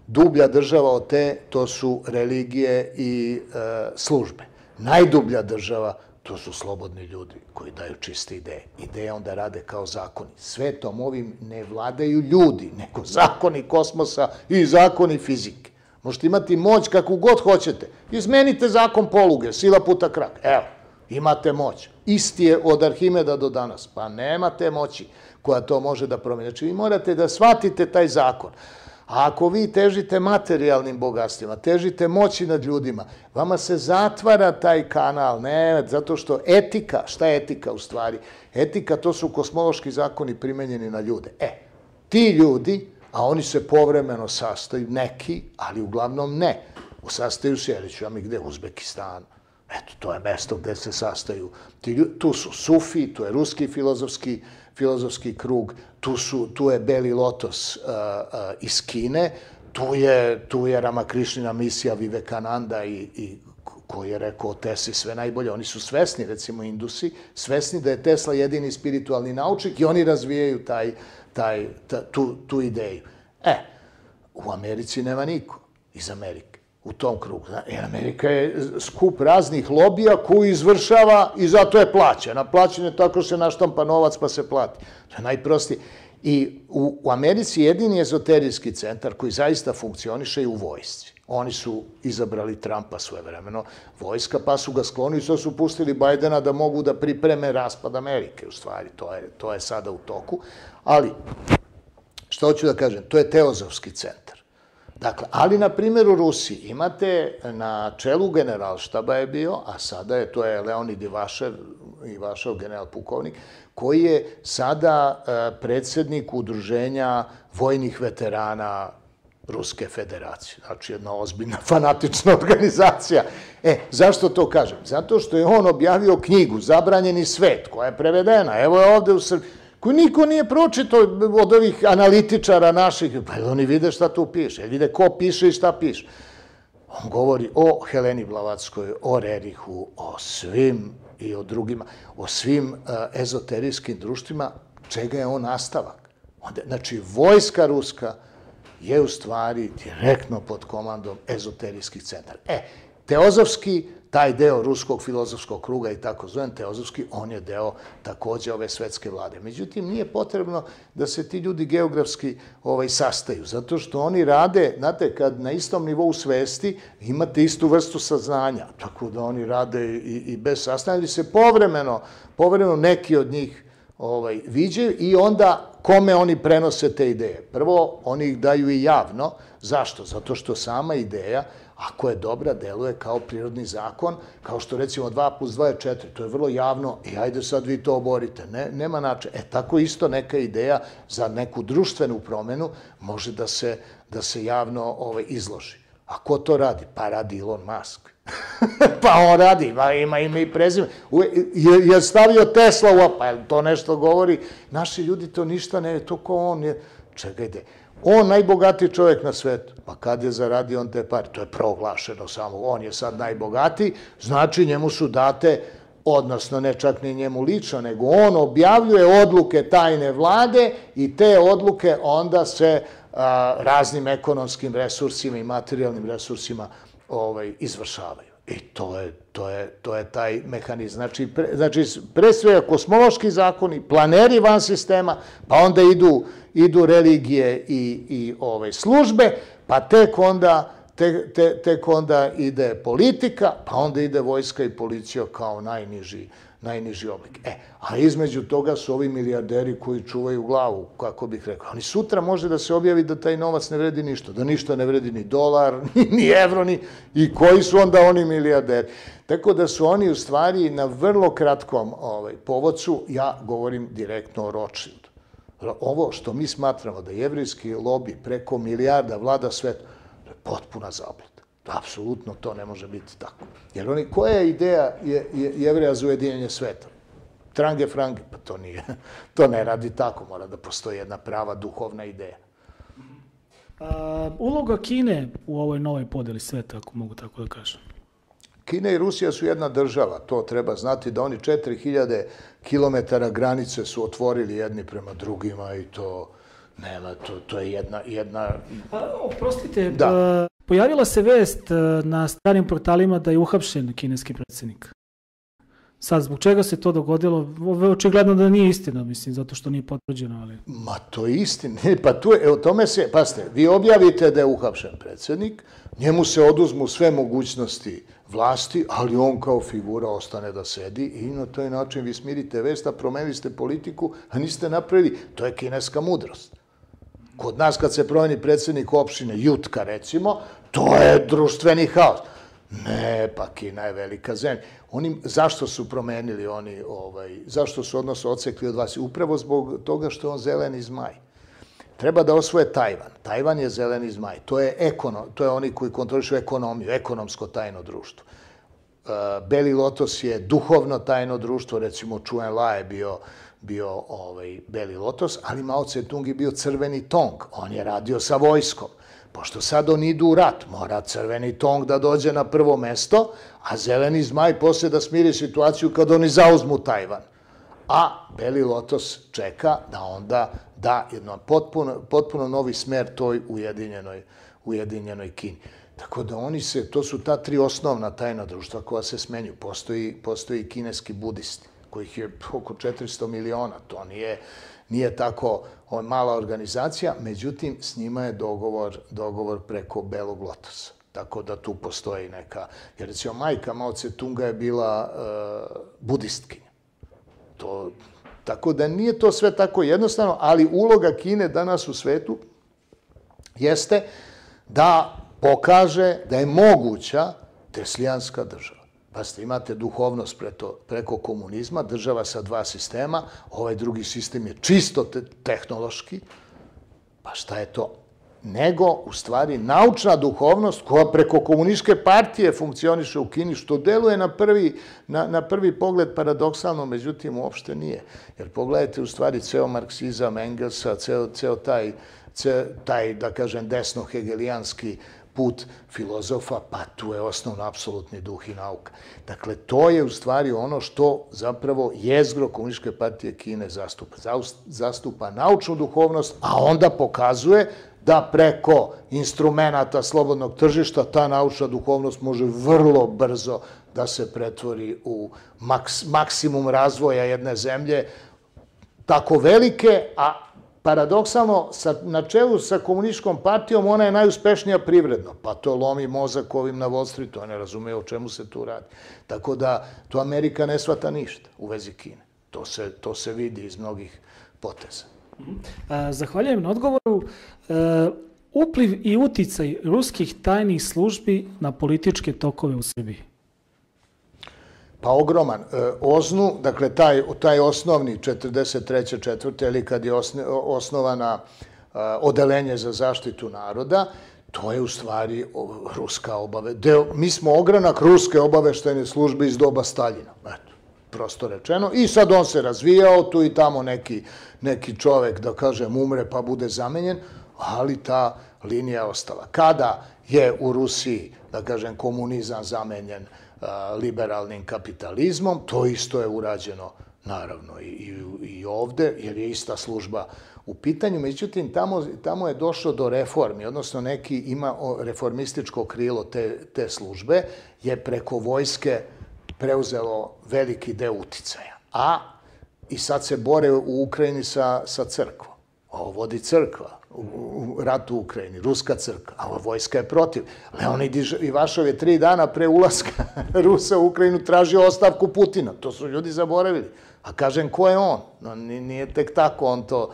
Dublja država od te, to su religije i e, službe. Najdublja država, to su slobodni ljudi koji daju čiste ideje. Ideje onda rade kao zakoni. Svetom ovim ne vladaju ljudi, nego zakoni kosmosa i zakoni fizike. Možete imati moć kakvu god hoćete. Izmenite zakon poluge, sila puta krak. Evo, imate moć. Isti je od Arhimeda do danas. Pa nemate moći koja to može da promijeni. Znači, vi morate da shvatite taj zakon. A ako vi težite materijalnim bogatstvima, težite moći nad ljudima, vama se zatvara taj kanal, ne, zato što etika, šta je etika u stvari? Etika, to su kosmološki zakoni primenjeni na ljude. E, ti ljudi, a oni se povremeno sastaju, neki, ali uglavnom ne, sastaju se, reći vam i gde, Uzbekistan, Eto, to je mesto gde se sastaju. Tu su Sufi, tu je ruski filozofski, filozofski krug, tu, su, tu je Beli lotos uh, uh, iz Kine, tu je, tu je Ramakrišnina misija Vivekananda i, i koji je rekao o Tesli sve najbolje. Oni su svesni, recimo Indusi, svesni da je Tesla jedini spiritualni naučnik i oni razvijaju taj, taj, ta, tu, tu ideju. E, u Americi nema niko iz Amerike, u tom krugu. Jer Amerika je skup raznih lobija koji izvršava i zato je plaćena. Plaćen je tako što se naštampa novac pa se plati. To je najprostije. I u, u Americi jedini ezoterijski centar koji zaista funkcioniše je u vojsci. Oni su izabrali Trumpa svojevremeno, vojska, pa su ga sklonili, što su pustili Bajdena da mogu da pripreme raspad Amerike, u stvari. To je, to je sada u toku. Ali, što hoću da kažem, to je teozofski centar. Dakle, ali, na primjer, u Rusiji imate na čelu generalštaba je bio, a sada je, to je Leonid Ivašev, Ivašev general pukovnik, koji je sada predsjednik udruženja vojnih veterana Ruske federacije. Znači, jedna ozbiljna fanatična organizacija. E, zašto to kažem? Zato što je on objavio knjigu Zabranjeni svet, koja je prevedena. Evo je ovde u Srbiji, koju niko nije pročitao od ovih analitičara naših. Pa oni vide šta tu piše, vide ko piše i šta piše. On govori o Heleni Blavatskom, o Rerihu, o svim i o drugima, o svim uh, ezoterijskim društvima, čega je on nastavak. Onda, znači, vojska ruska je u stvari direktno pod komandom ezoterijskih centara. E, teozofski, taj deo ruskog filozofskog kruga i tako zovem teozofski, on je deo takođe ove svetske vlade. Međutim, nije potrebno da se ti ljudi geografski ovaj, sastaju, zato što oni rade, znate, kad na istom nivou svesti imate istu vrstu saznanja, tako da oni rade i, i bez saznanja, ali se povremeno, povremeno neki od njih ovaj, viđaju i onda kome oni prenose te ideje. Prvo, oni ih daju i javno. Zašto? Zato što sama ideja, ako je dobra, deluje kao prirodni zakon, kao što recimo dva plus dva je četiri, to je vrlo javno i ajde sad vi to oborite. Ne, nema načina. E, tako isto neka ideja za neku društvenu promenu može da se, da se javno ovaj, izloži. A ko to radi? Pa radi Elon Musk. Pa on radi, ima, ima ime i prezime. Je, je stavio Tesla u, pa to nešto govori. Naši ljudi to ništa ne, to ko on je. Čekajte, on najbogatiji čovjek na svetu. Pa kad je zaradio on te pare? To je proglašeno samo. On je sad najbogatiji, znači njemu su date, odnosno ne čak ni njemu lično, nego on objavljuje odluke tajne vlade i te odluke onda se a, raznim ekonomskim resursima i materijalnim resursima ovaj, izvršavaju. I to je, to je, to je taj mehanizam. Znači, pre, znači, pre svega kosmološki zakoni, planeri van sistema, pa onda idu, idu religije i, i ove službe, pa tek onda, te, te, tek onda ide politika, pa onda ide vojska i policija kao najniži, najniži oblik. E, a između toga su ovi milijarderi koji čuvaju glavu, kako bih rekao. Oni sutra može da se objavi da taj novac ne vredi ništa, da ništa ne vredi ni dolar, ni evro, ni... I koji su onda oni milijarderi? Tako da su oni u stvari na vrlo kratkom ovaj, povodcu, ja govorim direktno o Rothschildu. Ovo što mi smatramo da jevrijski lobi preko milijarda vlada svet, to je potpuna zabluda. Apsolutno to ne može biti tako. Jer oni, koja je ideja je, je, Jevreja za ujedinjenje sveta? Trange frange, pa to nije. To ne radi tako, mora da postoji jedna prava duhovna ideja. A, uloga Kine u ovoj novoj podeli sveta, ako mogu tako da kažem? Kina i Rusija su jedna država, to treba znati da oni četiri hiljade kilometara granice su otvorili jedni prema drugima i to nema, to, to je jedna... jedna... A, oprostite, da. Pojavila se vest na stranim portalima da je uhapšen kineski predsjednik. Sad, zbog čega se to dogodilo? Očigledno da nije istina, mislim, zato što nije potvrđeno, ali... Ma to je istina. Pa tu je, o tome se, pasite, vi objavite da je uhapšen predsjednik, njemu se oduzmu sve mogućnosti vlasti, ali on kao figura ostane da sedi i na taj način vi smirite vest, a promenili ste politiku, a niste napravili. To je kineska mudrost. Kod nas kad se promeni predsjednik opštine Jutka, recimo, to je društveni haos. Ne, pa Kina je velika zemlja. Oni, zašto su promenili oni, ovaj, zašto su odnosno odsekli od vas? Upravo zbog toga što je on zeleni zmaj. Treba da osvoje Tajvan. Tajvan je zeleni zmaj. To je, ekono, to je oni koji kontrolišu ekonomiju, ekonomsko tajno društvo. Beli lotos je duhovno tajno društvo, recimo Čuen La je bio bio ovaj, Beli lotos, ali Mao Tse-tung je bio crveni tong. On je radio sa vojskom. Pošto sad oni idu u rat, mora crveni tong da dođe na prvo mesto, a zeleni zmaj posle da smiri situaciju kad oni zauzmu Tajvan. A Beli lotos čeka da onda da jedno potpuno, potpuno novi smer toj ujedinjenoj, ujedinjenoj Kini. Tako da oni se, to su ta tri osnovna tajna društva koja se smenju. Postoji, postoji kineski budisti, kojih je oko četiristo miliona. To nije, nije tako mala organizacija, međutim, s njima je dogovor, dogovor preko Belog lotosa. Tako da tu postoji neka... Jer recimo, majka Mao Tse-tunga je bila uh, budistkinja. To, tako da nije to sve tako jednostavno, ali uloga Kine danas u svetu jeste da pokaže da je moguća teslijanska država. Pazite, imate duhovnost preko komunizma, država sa dva sistema, ovaj drugi sistem je čisto tehnološki, pa šta je to? Nego, u stvari, naučna duhovnost koja preko komunističke partije funkcioniše u Kini, što deluje na prvi, na, na prvi pogled paradoksalno, međutim, uopšte nije. Jer pogledajte, u stvari, ceo marksizam, Engelsa, ceo, ceo taj, ceo taj, da kažem, desno-hegelijanski put filozofa, pa tu je osnovno apsolutni duh i nauka. Dakle, to je u stvari ono što zapravo jezgro Komunističke partije Kine zastupa. Zastupa naučnu duhovnost, a onda pokazuje da preko instrumenta slobodnog tržišta ta naučna duhovnost može vrlo brzo da se pretvori u maks, maksimum razvoja jedne zemlje, tako velike, a paradoksalno, na čelu sa komunističkom partijom ona je najuspešnija privredno, pa to lomi mozak ovim na Wall Streetu, ne razume o čemu se tu radi. Tako da, to Amerika ne shvata ništa u vezi Kine. To se, to se vidi iz mnogih poteza. Zahvaljujem na odgovoru. Upliv i uticaj ruskih tajnih službi na političke tokove u Srbiji? Pa ogroman. Oznu, dakle, taj, taj osnovni četrdeset treće četvrte ili kad je osnovana odelenje za zaštitu naroda, to je u stvari ruska obave. Mi smo ogranak ruske obaveštajne službe iz doba Staljina. Eto, prosto rečeno. I sad on se razvijao, tu i tamo neki, neki čovek, da kažem, umre pa bude zamenjen, ali ta linija je ostala. Kada je u Rusiji, da kažem, komunizam zamenjen liberalnim kapitalizmom, to isto je urađeno naravno i, i ovde, jer je ista služba u pitanju. Međutim, tamo, tamo je došlo do reformi, odnosno neki ima reformističko krilo te, te službe, je preko vojske preuzelo veliki deo uticaja. A i sad se bore u Ukrajini sa, sa crkvom. Ovo vodi crkva u ratu u Ukrajini, ruska crkva, a ova vojska je protiv. Leonid Ivašov je tri dana pre ulaska Rusa u Ukrajinu tražio ostavku Putina. To su ljudi zaboravili. A kažem, ko je on? No, nije tek tako on to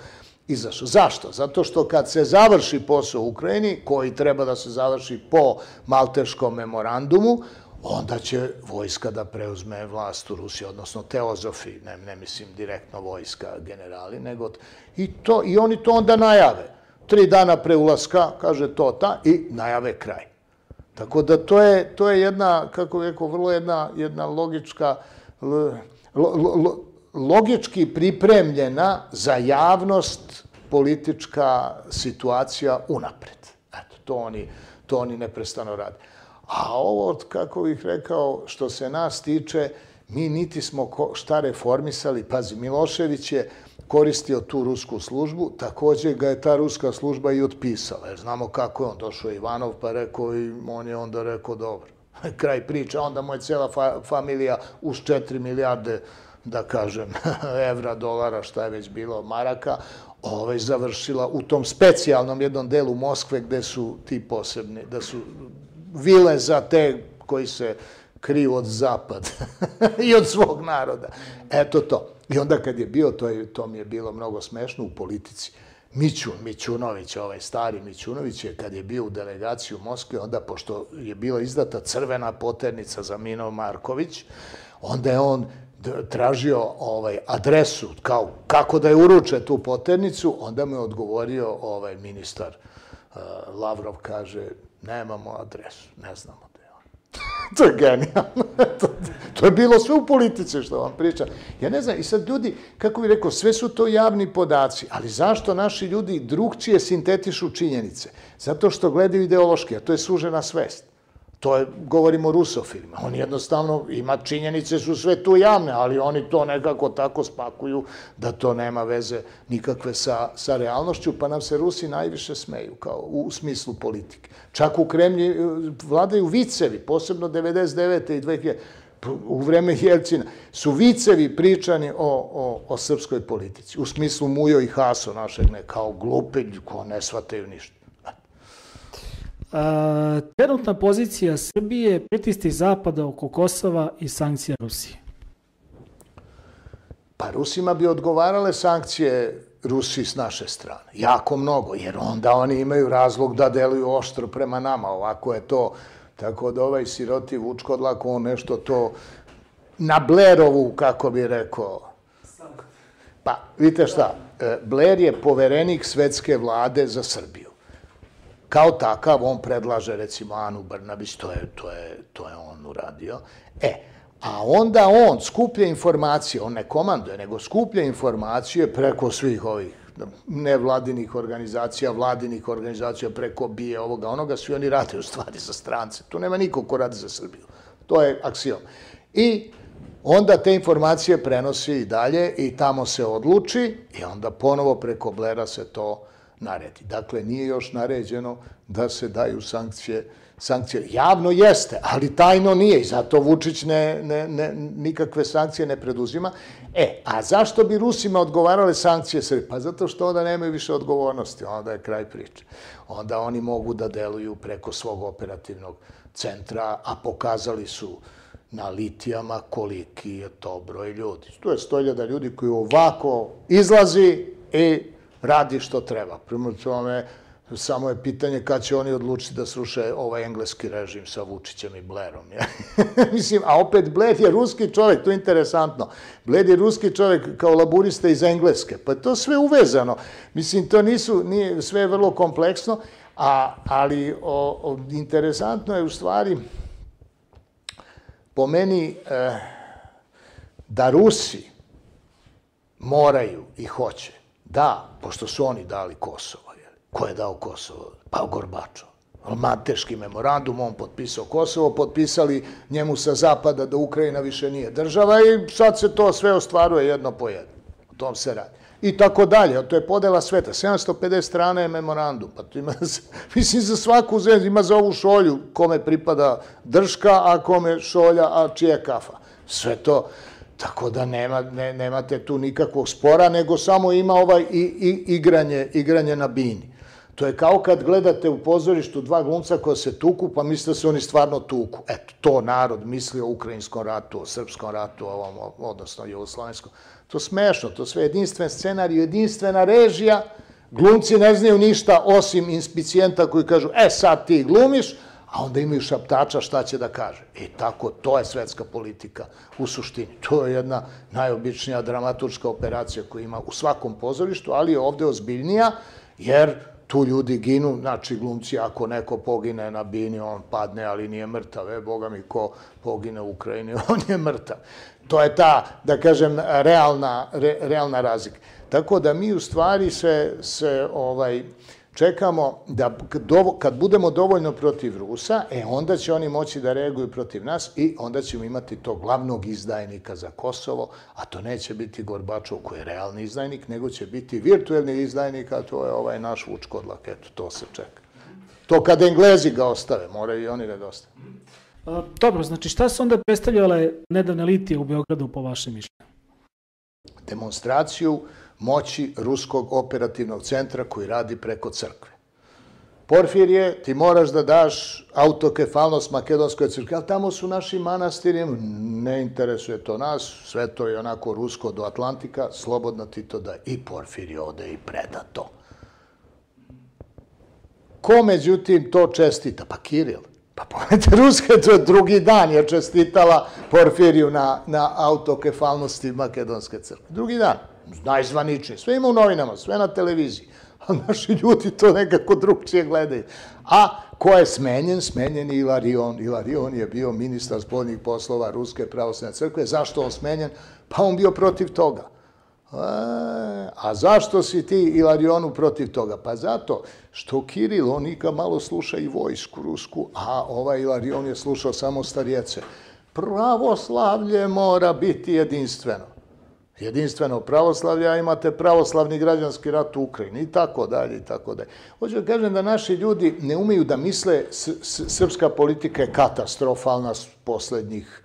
izašao. Zašto? Zato što kad se završi posao u Ukrajini, koji treba da se završi po Malteškom memorandumu, onda će vojska da preuzme vlast u Rusiji, odnosno teozofi, ne, ne mislim direktno vojska, generali, nego... I, to, I oni to onda najave. Tri dana pre ulaska, kaže to ta, i najave kraj. Tako da to je, to je jedna, kako bih rekao, vrlo jedna, jedna logička, lo, lo, logički pripremljena za javnost politička situacija unapred. Eto, to oni, to oni neprestano rade. A ovo, kako bih rekao, što se nas tiče, mi niti smo šta reformisali. Pazi, Milošević je koristio tu rusku službu, također ga je ta ruska služba i otpisala, jer znamo kako je on došao Ivanov, pa rekao i on je onda rekao dobro. Kraj priča, onda mu je cijela fa familija uz četiri milijarde, da kažem, evra, dolara, šta je već bilo, maraka, ovaj, završila u tom specijalnom jednom delu Moskve gde su ti posebni, da su vile za te koji se kriju od zapada i od svog naroda. Eto to. I onda kad je bio, to, je, to mi je bilo mnogo smešno u politici, Mićun, Mićunović, ovaj stari Mićunović je kad je bio u delegaciji u Moskvi, onda pošto je bila izdata crvena poternica za Mino Marković, onda je on tražio ovaj adresu, kao kako da je uruče tu poternicu, onda mu je odgovorio ovaj ministar uh, Lavrov, kaže, nemamo adresu, ne znamo da je on. To je genijalno. To je bilo sve u politici što vam pričam. Ja ne znam, i sad ljudi, kako bih rekao, sve su to javni podaci, ali zašto naši ljudi drugčije sintetišu činjenice? Zato što gledaju ideološki, a to je sužena svest. To je, govorimo o rusofilima. Oni jednostavno, ima činjenice, su sve tu javne, ali oni to nekako tako spakuju da to nema veze nikakve sa, sa realnošću, pa nam se Rusi najviše smeju, kao u smislu politike. Čak u Kremlji vladaju vicevi, posebno devedeset devete i dve hiljade u vreme Jelcina, su vicevi pričani o, o, o srpskoj politici. U smislu Mujo i Haso našeg, ne, kao glupi, ko ne shvataju ništa. A, trenutna pozicija Srbije, pritisci Zapada oko Kosova i sankcija Rusije. Pa Rusima bi odgovarale sankcije Rusiji s naše strane. Jako mnogo, jer onda oni imaju razlog da deluju oštro prema nama. Ovako je to, tako da ovaj siroti Vučkodlak, on nešto to na Blairovu, kako bi rekao. Pa, vidite šta, Blair je poverenik svetske vlade za Srbiju. Kao takav, on predlaže, recimo, Anu Brnabić, to je, to je, to je on uradio. E, a onda on skuplja informacije, on ne komanduje, nego skuplja informacije preko svih ovih nevladinih organizacija, vladinih organizacija, preko bije ovoga, onoga, svi oni rade u stvari za strance. Tu nema nikog ko radi za Srbiju. To je aksiom. I onda te informacije prenosi i dalje i tamo se odluči i onda ponovo preko Blaira se to naredi. Dakle, nije još naređeno da se daju sankcije. Sankcije javno jeste, ali tajno nije i zato Vučić ne, ne, ne, nikakve sankcije ne preduzima. E, a zašto bi Rusima odgovarale sankcije Srbije? Pa zato što onda nemaju više odgovornosti, onda je kraj priče. Onda oni mogu da deluju preko svog operativnog centra, a pokazali su na litijama koliki je to broj ljudi. Tu je sto hiljada ljudi koji ovako izlazi i radi što treba. Prema tome, samo je pitanje kad će oni odlučiti da sruše ovaj engleski režim sa Vučićem i Blairom. Mislim, a opet Blair je ruski čovjek, to je interesantno. Blair je ruski čovjek kao laburista iz Engleske. Pa to sve uvezano. Mislim, to nisu, nije, sve je vrlo kompleksno, a, ali o, o, interesantno je u stvari po meni eh, da Rusi moraju i hoće da, pošto su oni dali Kosovo. Ko je dao Kosovo? Pa Gorbačov. Malteški memorandum, on potpisao Kosovo, potpisali njemu sa zapada da Ukrajina više nije država i sad se to sve ostvaruje jedno po jedno. O tom se radi. I tako dalje, to je podela sveta. sedamsto pedeset strana je memorandum. Pa to ima, mislim, za svaku zemlju, ima za ovu šolju kome pripada drška, a kome šolja, a čija kafa. Sve to. Tako da nema, ne, nemate tu nikakvog spora, nego samo ima ovaj i, i, igranje, igranje na bini. To je kao kad gledate u pozorištu dva glumca koja se tuku, pa mislite da se oni stvarno tuku. Eto, to narod misli o ukrajinskom ratu, o srpskom ratu, ovom, odnosno jugoslovenskom. To smešno, to sve jedinstven scenarij, jedinstvena režija. Glumci ne znaju ništa osim inspicijenta koji kažu, e sad ti glumiš, a onda imaju šaptača šta će da kaže. I tako, to je svetska politika u suštini. To je jedna najobičnija dramaturška operacija koju ima u svakom pozorištu, ali je ovde ozbiljnija, jer tu ljudi ginu, znači glumci, ako neko pogine na bini, on padne, ali nije mrtav. E, boga mi, ko pogine u Ukrajini, on je mrtav. To je ta, da kažem, realna, re, realna razlika. Tako da mi u stvari se, se ovaj, čekamo da kad budemo dovoljno protiv Rusa, e onda će oni moći da reaguju protiv nas i onda ćemo imati tog glavnog izdajnika za Kosovo, a to neće biti Gorbačov koji je realni izdajnik, nego će biti virtuelni izdajnik, a to je ovaj naš Vučkodlak. Eto, to se čeka. To kad Englezi ga ostave, moraju i oni da ga ostave. Dobro, znači šta su onda predstavljale nedavne litije u Beogradu po vašem mišljenju? Demonstraciju moći ruskog operativnog centra koji radi preko crkve. Porfirije, ti moraš da daš autokefalnost makedonskoj crkvi, ali tamo su naši manastiri, ne interesuje to nas, sve to je onako rusko do Atlantika, slobodno ti to daj. I Porfirije ode i preda to. Ko međutim to čestita? Pa Kiril. Pa pogledajte, Ruska to drugi dan je čestitala Porfiriju na, na autokefalnosti makedonske crkve. Drugi dan. Najzvaničniji. Sve ima u novinama, sve na televiziji. a naši ljudi to nekako drugčije gledaju. A ko je smenjen? Smenjen je Ilarion. Ilarion je bio ministar spoljnih poslova Ruske pravoslavne crkve. Zašto on smenjen? Pa on bio protiv toga. A zašto si ti Ilarionu protiv toga? Pa zato što Kiril, on nikad malo sluša i vojsku rusku, a ovaj Ilarion je slušao samo starjece. Pravoslavlje mora biti jedinstveno. Jedinstveno pravoslavlje, a imate pravoslavni građanski rat u Ukrajini i tako dalje i tako dalje. Hoću da kažem da naši ljudi ne umeju da misle srpska politika je katastrofalna poslednjih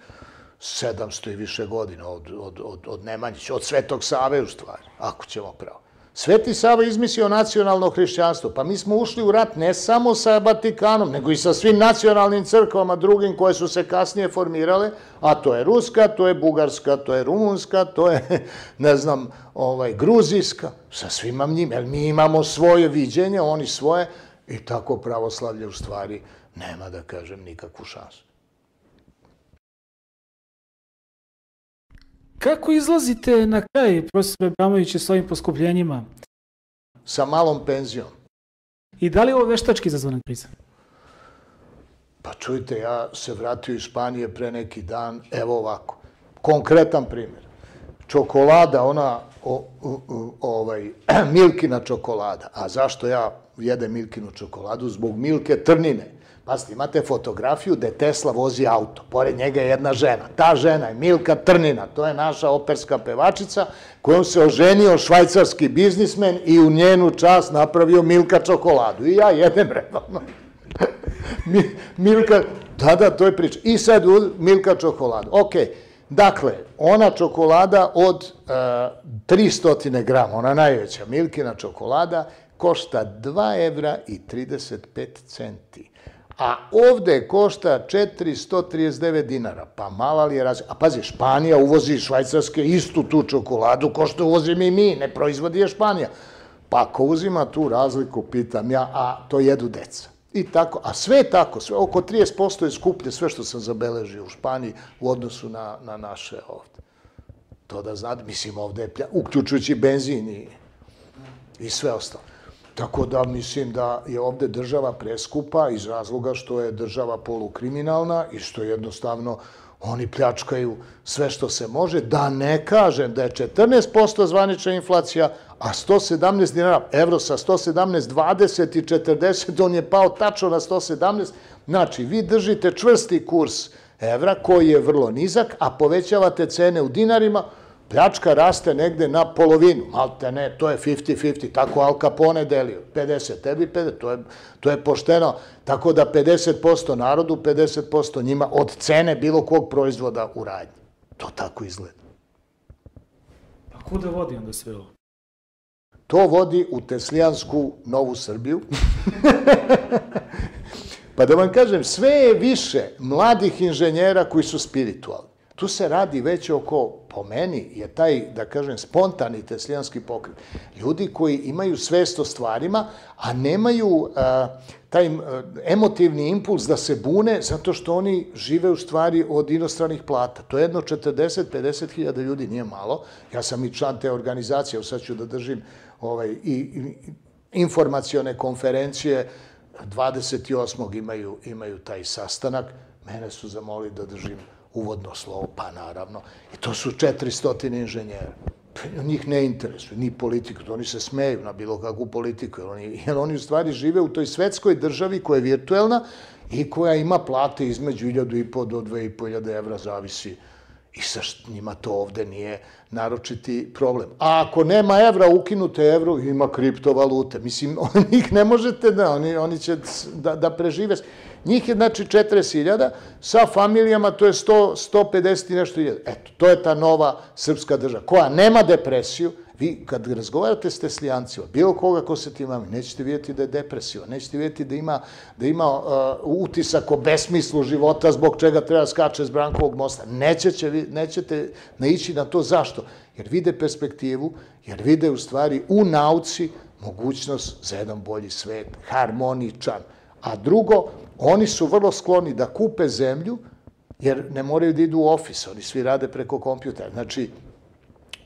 sedamsto i više godina od, od, od, od Nemanjića, od Svetog Save u stvari, ako ćemo pravo. Sveti Sava izmislio nacionalno hrišćanstvo, pa mi smo ušli u rat ne samo sa Vatikanom, nego i sa svim nacionalnim crkvama drugim koje su se kasnije formirale, a to je Ruska, to je Bugarska, to je Rumunska, to je, ne znam, ovaj, Gruzijska, sa svima njima, jer mi imamo svoje viđenje, oni svoje, i tako pravoslavlje u stvari nema, da kažem, nikakvu šansu. Kako izlazite na kraj, profesor Abramović, s ovim poskupljenjima? Sa malom penzijom. I da li je ovo veštački izazvana kriza? Pa čujte, ja se vratio iz Španije pre neki dan, evo ovako, konkretan primjer. Čokolada, ona, o, o, ovaj, Milkina čokolada. A zašto ja jedem Milkinu čokoladu? Zbog Milke Trnine. Pazite, imate fotografiju gde Tesla vozi auto. Pored njega je jedna žena. Ta žena je Milka Trnina. To je naša operska pevačica kojom se oženio švajcarski biznismen i u njenu čast napravio Milka čokoladu. I ja jedem redovno. Milka, da, da, to je priča. I sad Milka čokoladu. Ok, dakle, ona čokolada od tristo grama, ona najveća Milkina čokolada, košta dva evra i trideset pet centi. A ovde košta četiristo trideset devet dinara. Pa mala li je razlika? A pazi, Španija uvozi iz Švajcarske istu tu čokoladu ko što uvozimo i mi, ne proizvodi je Španija. Pa ako uzima tu razliku, pitam ja, a to jedu deca. I tako, a sve je tako, sve, oko trideset posto je skuplje sve što sam zabeležio u Španiji u odnosu na, na naše ovde. To da znate, mislim ovde je plja, uključujući benzin i, i sve ostalo. Tako da mislim da je ovde država preskupa iz razloga što je država polukriminalna i što jednostavno oni pljačkaju sve što se može. Da ne kažem da je četrnaest posto zvanična inflacija, a sto sedamnaest dinara, evro sa sto sedamnaest, dvadeset i četrdeset, on je pao tačno na sto sedamnaest. Znači, vi držite čvrsti kurs evra koji je vrlo nizak, a povećavate cene u dinarima, pljačka raste negde na polovinu, malte ne, to je pedeset pedeset, tako Al Capone delio, pedeset tebi, pedeset, to je, to je pošteno, tako da pedeset posto narodu, pedeset posto njima od cene bilo kog proizvoda u radnji. To tako izgleda. A kuda vodi onda sve ovo? To vodi u Teslijansku Novu Srbiju. Pa da vam kažem, sve je više mladih inženjera koji su spiritualni. Tu se radi već oko, po meni, je taj, da kažem, spontani teslijanski pokret. Ljudi koji imaju svest o stvarima, a nemaju a, taj a, emotivni impuls da se bune zato što oni žive u stvari od inostranih plata. To je jedno četrdeset do pedeset hiljada ljudi, nije malo. Ja sam i član te organizacije, sad ću da držim ovaj, i, i informacione konferencije, dvadeset osmog imaju, imaju taj sastanak. Mene su zamolili da držim uvodno slovo, pa naravno. I to su četiristo inženjera. Njih ne interesuje, ni politiku. Oni se smeju na bilo kakvu politiku, jer oni, jer oni u stvari žive u toj svetskoj državi koja je virtuelna i koja ima plate između hiljadu i po do dve i po hiljade evra, zavisi. I sa njima to ovde nije naročiti problem. A ako nema evra, ukinute evro, ima kriptovalute. Mislim, njih ne možete da, oni, oni će da, da prežive. Njih je, znači, četrdeset hiljada, sa familijama to je sto, sto pedeset i nešto hiljada. Eto, to je ta nova srpska država, koja nema depresiju. Vi, kad razgovarate s teslijancima, bilo koga ko se tim mami, nećete vidjeti da je depresiva, nećete vidjeti da ima, da ima uh, utisak o besmislu života zbog čega treba skače s Brankovog mosta. Nećete, nećete naići na to. Zašto? Jer vide perspektivu, jer vide u stvari u nauci mogućnost za jedan bolji svet, harmoničan. A drugo, oni su vrlo skloni da kupe zemlju, jer ne moraju da idu u ofis, oni svi rade preko kompjutera. Znači,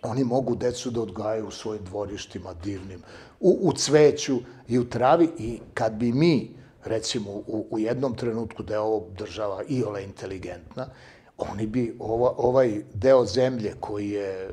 oni mogu decu da odgajaju u svojim dvorištima divnim, u, u cveću i u travi i kad bi mi, recimo, u, u jednom trenutku da je ovo država iole inteligentna, oni bi ova, ovaj deo zemlje koji je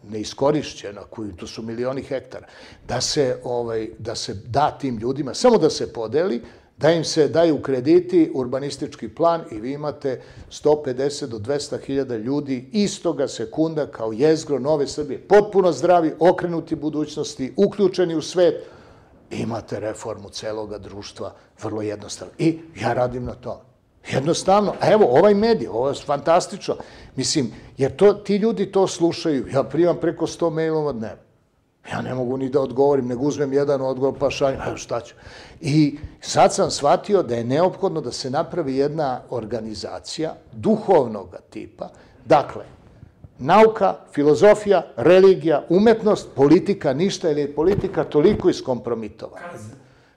neiskorišćena, koji to su milioni hektara, da se, ovaj, da se da tim ljudima, samo da se podeli, da im se daju krediti, urbanistički plan i vi imate sto pedeset do dvesta hiljada ljudi istoga sekunda kao jezgro Nove Srbije, potpuno zdravi, okrenuti budućnosti, uključeni u svet, imate reformu celoga društva, vrlo jednostavno. I ja radim na tome. Jednostavno, a evo, ovaj medij, ovo je fantastično. Mislim, jer to, ti ljudi to slušaju. Ja primam preko sto mailova dnevno. Ja ne mogu ni da odgovorim, nego uzmem jedan odgovor, pa šaljem, evo šta ću. I sad sam shvatio da je neophodno da se napravi jedna organizacija duhovnog tipa. Dakle, nauka, filozofija, religija, umetnost, politika, ništa, ili je politika toliko iskompromitovana.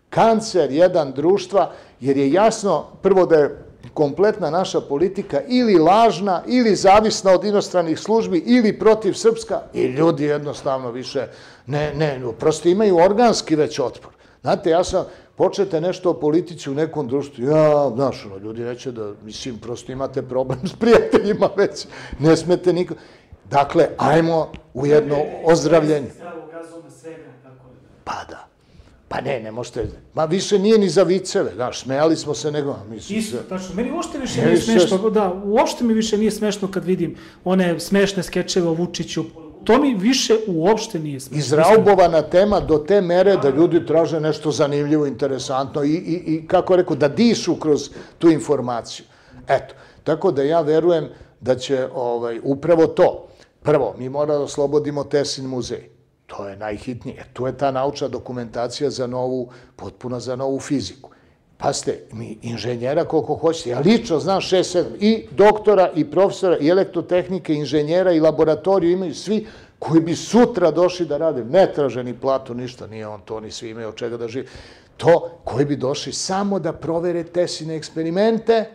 Kancer jedan društva, jer je jasno prvo da je kompletna naša politika ili lažna, ili zavisna od inostranih službi, ili protiv srpska, i ljudi jednostavno više ne, ne, prosto imaju organski već otpor. Znate, ja sam, počete nešto o politici u nekom društvu, ja, znaš, ljudi neće da, mislim, prosto imate problem s prijateljima već, ne smete niko. Dakle, ajmo u jedno ozdravljenje. Pa da. Pa ne, ne možete, ma više nije ni za viceve, znaš, smejali smo se nego, mislim se... Isto, tačno, meni uopšte više nije smešno, da, uopšte mi više nije smešno kad vidim one smešne skečeve o Vučiću, to mi više uopšte nije smešno. Izraubovana tema do te mere da ljudi traže nešto zanimljivo, interesantno i, i, i kako rekao, da dišu kroz tu informaciju. Eto, tako da ja verujem da će ovaj, upravo to, prvo, mi moramo da oslobodimo Teslin muzej. To je najhitnije. Tu je ta naučna dokumentacija za novu, potpuno za novu fiziku. Pazite, mi inženjera koliko hoćete, ja lično znam šest, sedam, i doktora, i profesora, i elektrotehnike, i inženjera, i laboratoriju imaju svi koji bi sutra došli da rade. Ne traže ni platu, ništa, nije on to, oni svi imaju od čega da žive. To, koji bi došli samo da provere Tesline eksperimente,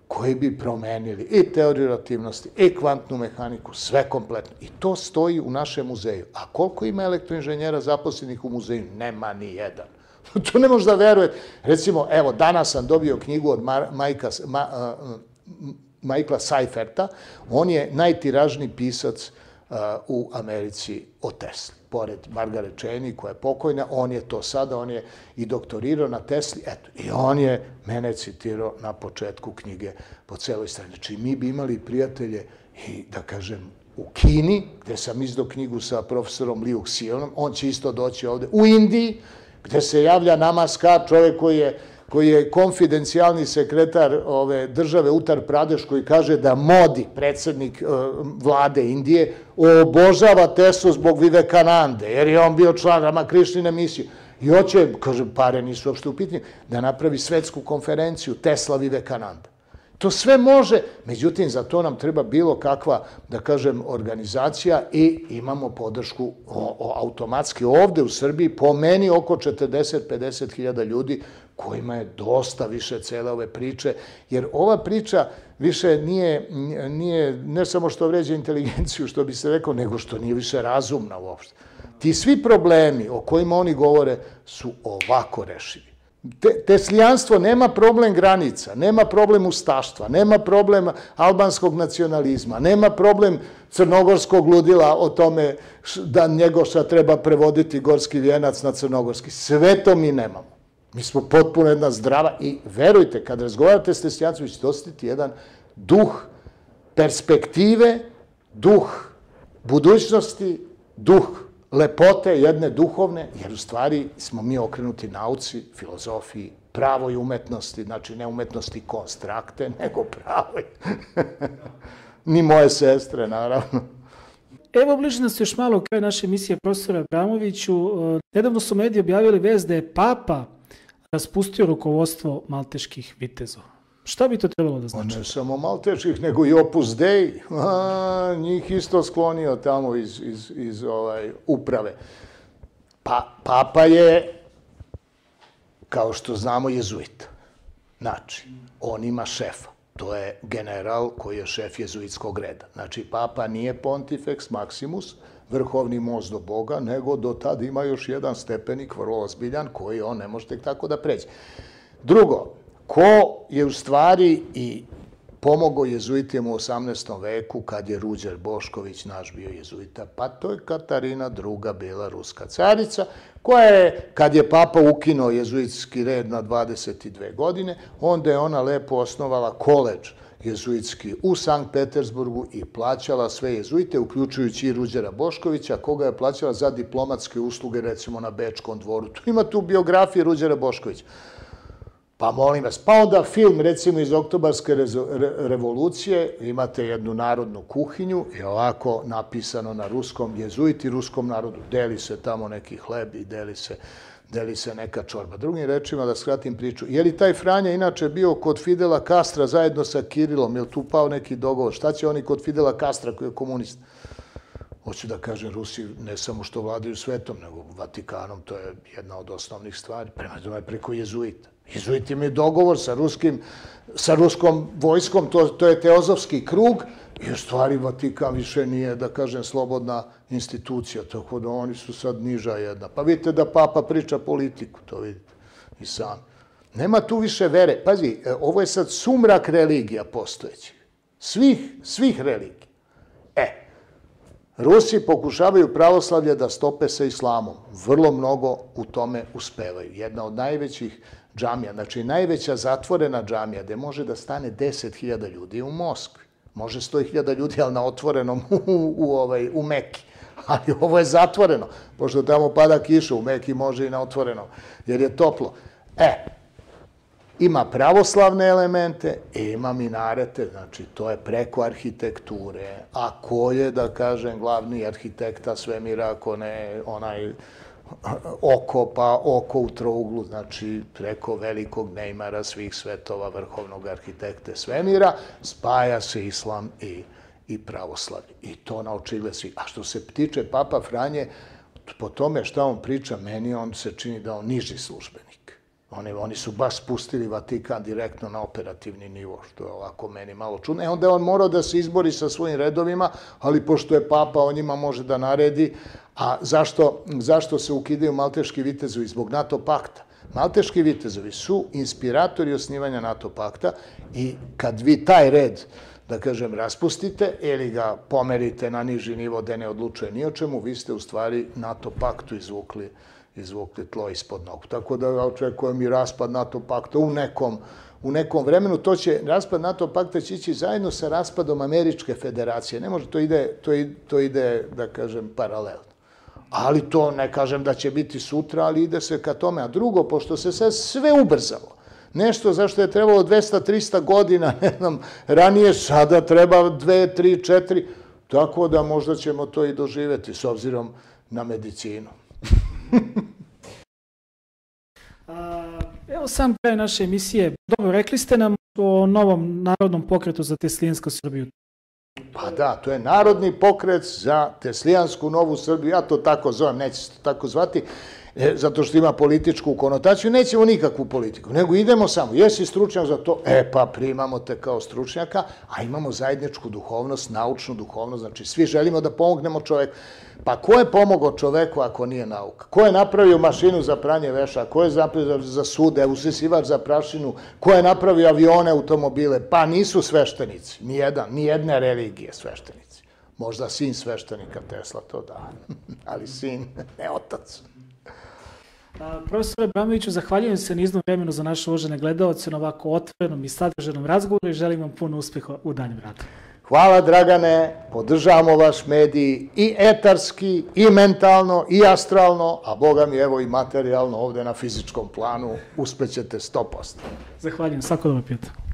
koji bi promenili i teoriju relativnosti, i kvantnu mehaniku, sve kompletno. I to stoji u našem muzeju. A koliko ima elektroinženjera zaposlenih u muzeju? Nema ni jedan. To ne možda verujete. Recimo, evo, danas sam dobio knjigu od Michaela Seiferta. On je najtiražniji pisac u Americi o Tesli. Pored Margaret Cheney, koja je pokojna, on je to sada, on je i doktorirao na Tesli, eto, i on je mene citirao na početku knjige po celoj strani. Znači, mi bi imali prijatelje i, da kažem, u Kini, gde sam izdao knjigu sa profesorom Liu Xiaonom, on će isto doći ovde, u Indiji, gde se javlja Namaskar, čovjek koji je koji je konfidencijalni sekretar ove države Uttar Pradeš, koji kaže da Modi, predsjednik vlade Indije, obožava Teslu zbog Vivekanande, jer je on bio član Ramakrišnine misije. I hoće, kaže, pare nisu uopšte u pitanju, da napravi svetsku konferenciju Tesla Vivekananda. To sve može, međutim, za to nam treba bilo kakva, da kažem, organizacija i imamo podršku automatski ovde u Srbiji, po meni oko četrdeset do pedeset hiljada ljudi kojima je dosta više cele ove priče, jer ova priča više nije, nije ne samo što vređa inteligenciju, što bi se rekao, nego što nije više razumna uopšte. Ti svi problemi o kojima oni govore su ovako rešivi. Teslijanstvo nema problem granica, nema problem ustaštva, nema problem albanskog nacionalizma, nema problem crnogorskog ludila o tome da Njegoša treba prevoditi gorski vijenac na crnogorski. Sve to mi nemamo. Mi smo potpuno jedna zdrava i verujte, kad razgovarate s teslijancima, ćete osjetiti jedan duh perspektive, duh budućnosti, duh lepote jedne duhovne, jer u stvari smo mi okrenuti nauci, filozofiji, pravoj umetnosti, znači ne umetnosti konstrakte, nego pravoj. Ni moje sestre, naravno. Evo, bliži nas još malo kraj naše emisije profesora Abramoviću. Nedavno su mediji objavili vest da je Papa raspustio rukovodstvo malteških vitezova. Šta bi to trebalo da znači? Ne samo malteških, nego i Opus Dei. Njih isto sklonio tamo iz, iz, iz ovaj, uprave. Pa, Papa je, kao što znamo, jezuit. Znači, on ima šefa. To je general koji je šef jezuitskog reda. Znači, papa nije pontifex maximus, vrhovni most do Boga, nego do tad ima još jedan stepenik, vrlo ozbiljan, koji on ne može tek tako da pređe. Drugo, ko je u stvari i pomogao jezuitima u osamnaestom veku kad je Ruđer Bošković naš bio jezuita? Pa to je Katarina druga bila ruska carica, koja je, kad je papa ukinuo jezuitski red na dvadeset dve godine, onda je ona lepo osnovala koledž jezuitski u Sankt Petersburgu i plaćala sve jezuite, uključujući i Ruđera Boškovića, koga je plaćala za diplomatske usluge, recimo na Bečkom dvoru. Ima tu biografije Ruđera Boškovića. Pa molim vas, pa onda film, recimo iz Oktobarske revolucije, imate jednu narodnu kuhinju i ovako napisano na ruskom, jezuiti ruskom narodu, deli se tamo neki hleb i deli se, deli se neka čorba. Drugim rečima, da skratim priču, je li taj Franja inače bio kod Fidela Castra zajedno sa Kirilom, je li tu pao neki dogovor? Šta će oni kod Fidela Castra koji je komunist? Hoću da kažem, Rusi ne samo što vladaju svetom, nego Vatikanom, to je jedna od osnovnih stvari, prema tome preko jezuita. Jezuiti imaju dogovor sa ruskim, sa ruskom vojskom, to, to je teozofski krug i u stvari Vatikan više nije, da kažem, slobodna institucija, tako da oni su sad niža jedna. Pa vidite da papa priča politiku, to vidite i sami. Nema tu više vere. Pazi, ovo je sad sumrak religija postojećih. Svih, svih religija. E, Rusi pokušavaju pravoslavlje da stope sa islamom. Vrlo mnogo u tome uspevaju. Jedna od najvećih džamija, znači najveća zatvorena džamija gde može da stane deset hiljada ljudi u Moskvi. Može sto hiljada ljudi, ali na otvorenom u, u, ovaj, u Meki. Ali ovo je zatvoreno, pošto tamo pada kiša, u Meki može i na otvorenom, jer je toplo. E, ima pravoslavne elemente i ima minarete, znači to je preko arhitekture. A ko je, da kažem, glavni arhitekta svemira, ako ne onaj oko, pa oko u trouglu, znači preko velikog Neymara svih svetova, vrhovnog arhitekte svemira, spaja se islam i, i pravoslavlje. I to na očigled svih. A što se tiče Papa Franje, po tome šta on priča, meni on se čini da on niži službenik. Oni, oni su baš spustili Vatikan direktno na operativni nivo, što je ovako meni malo čudno. E onda je on morao da se izbori sa svojim redovima, ali pošto je papa, on njima može da naredi. A zašto, zašto se ukidaju malteški vitezovi? Zbog NATO pakta. Malteški vitezovi su inspiratori osnivanja NATO pakta i kad vi taj red, da kažem, raspustite ili ga pomerite na niži nivo gde ne odlučuje ni o čemu, vi ste u stvari NATO paktu izvukli izvukli tlo ispod nogu. Tako da očekujem i raspad NATO pakta u nekom, u nekom vremenu. To će, raspad NATO pakta će ići zajedno sa raspadom Američke federacije. Ne može, to ide, to ide, to ide da kažem, paralelno. Ali to ne kažem da će biti sutra, ali ide se ka tome. A drugo, pošto se sad sve ubrzalo, nešto zašto je trebalo dvesta do trista godina, ne znam, ranije, sada treba dve, tri, četiri, tako da možda ćemo to i doživeti s obzirom na medicinu. A, evo sam kraj naše emisije. Dobro, rekli ste nam o novom narodnom pokretu za teslijansku Srbiju. Pa da, to je narodni pokret za teslijansku novu Srbiju. Ja to tako zovem, neće se to tako zvati, zato što ima političku konotaciju. Nećemo nikakvu politiku, nego idemo samo. Jesi stručnjak za to? E pa primamo te kao stručnjaka, a imamo zajedničku duhovnost, naučnu duhovnost. Znači svi želimo da pomognemo čoveku. Pa ko je pomogao čoveku ako nije nauka? Ko je napravio mašinu za pranje veša? Ko je napravio za sude, usisivač za prašinu? Ko je napravio avione, automobile? Pa nisu sveštenici, nijedan, nijedne religije sveštenici. Možda sin sveštenika Tesla, to da, ali sin, ne otac. Profesore Abramoviću, zahvaljujem se na izdnom vremenu za naše uvažene gledalce na ovako otvorenom i sadržajnom razgovoru i želim vam puno uspeha u danjem radu. Hvala Dragane, podržavamo vaš medij i etarski, i mentalno, i astralno, a Boga mi evo i materijalno ovde na fizičkom planu, uspećete sto posto. Zahvaljujem, svako dobro prijatelj.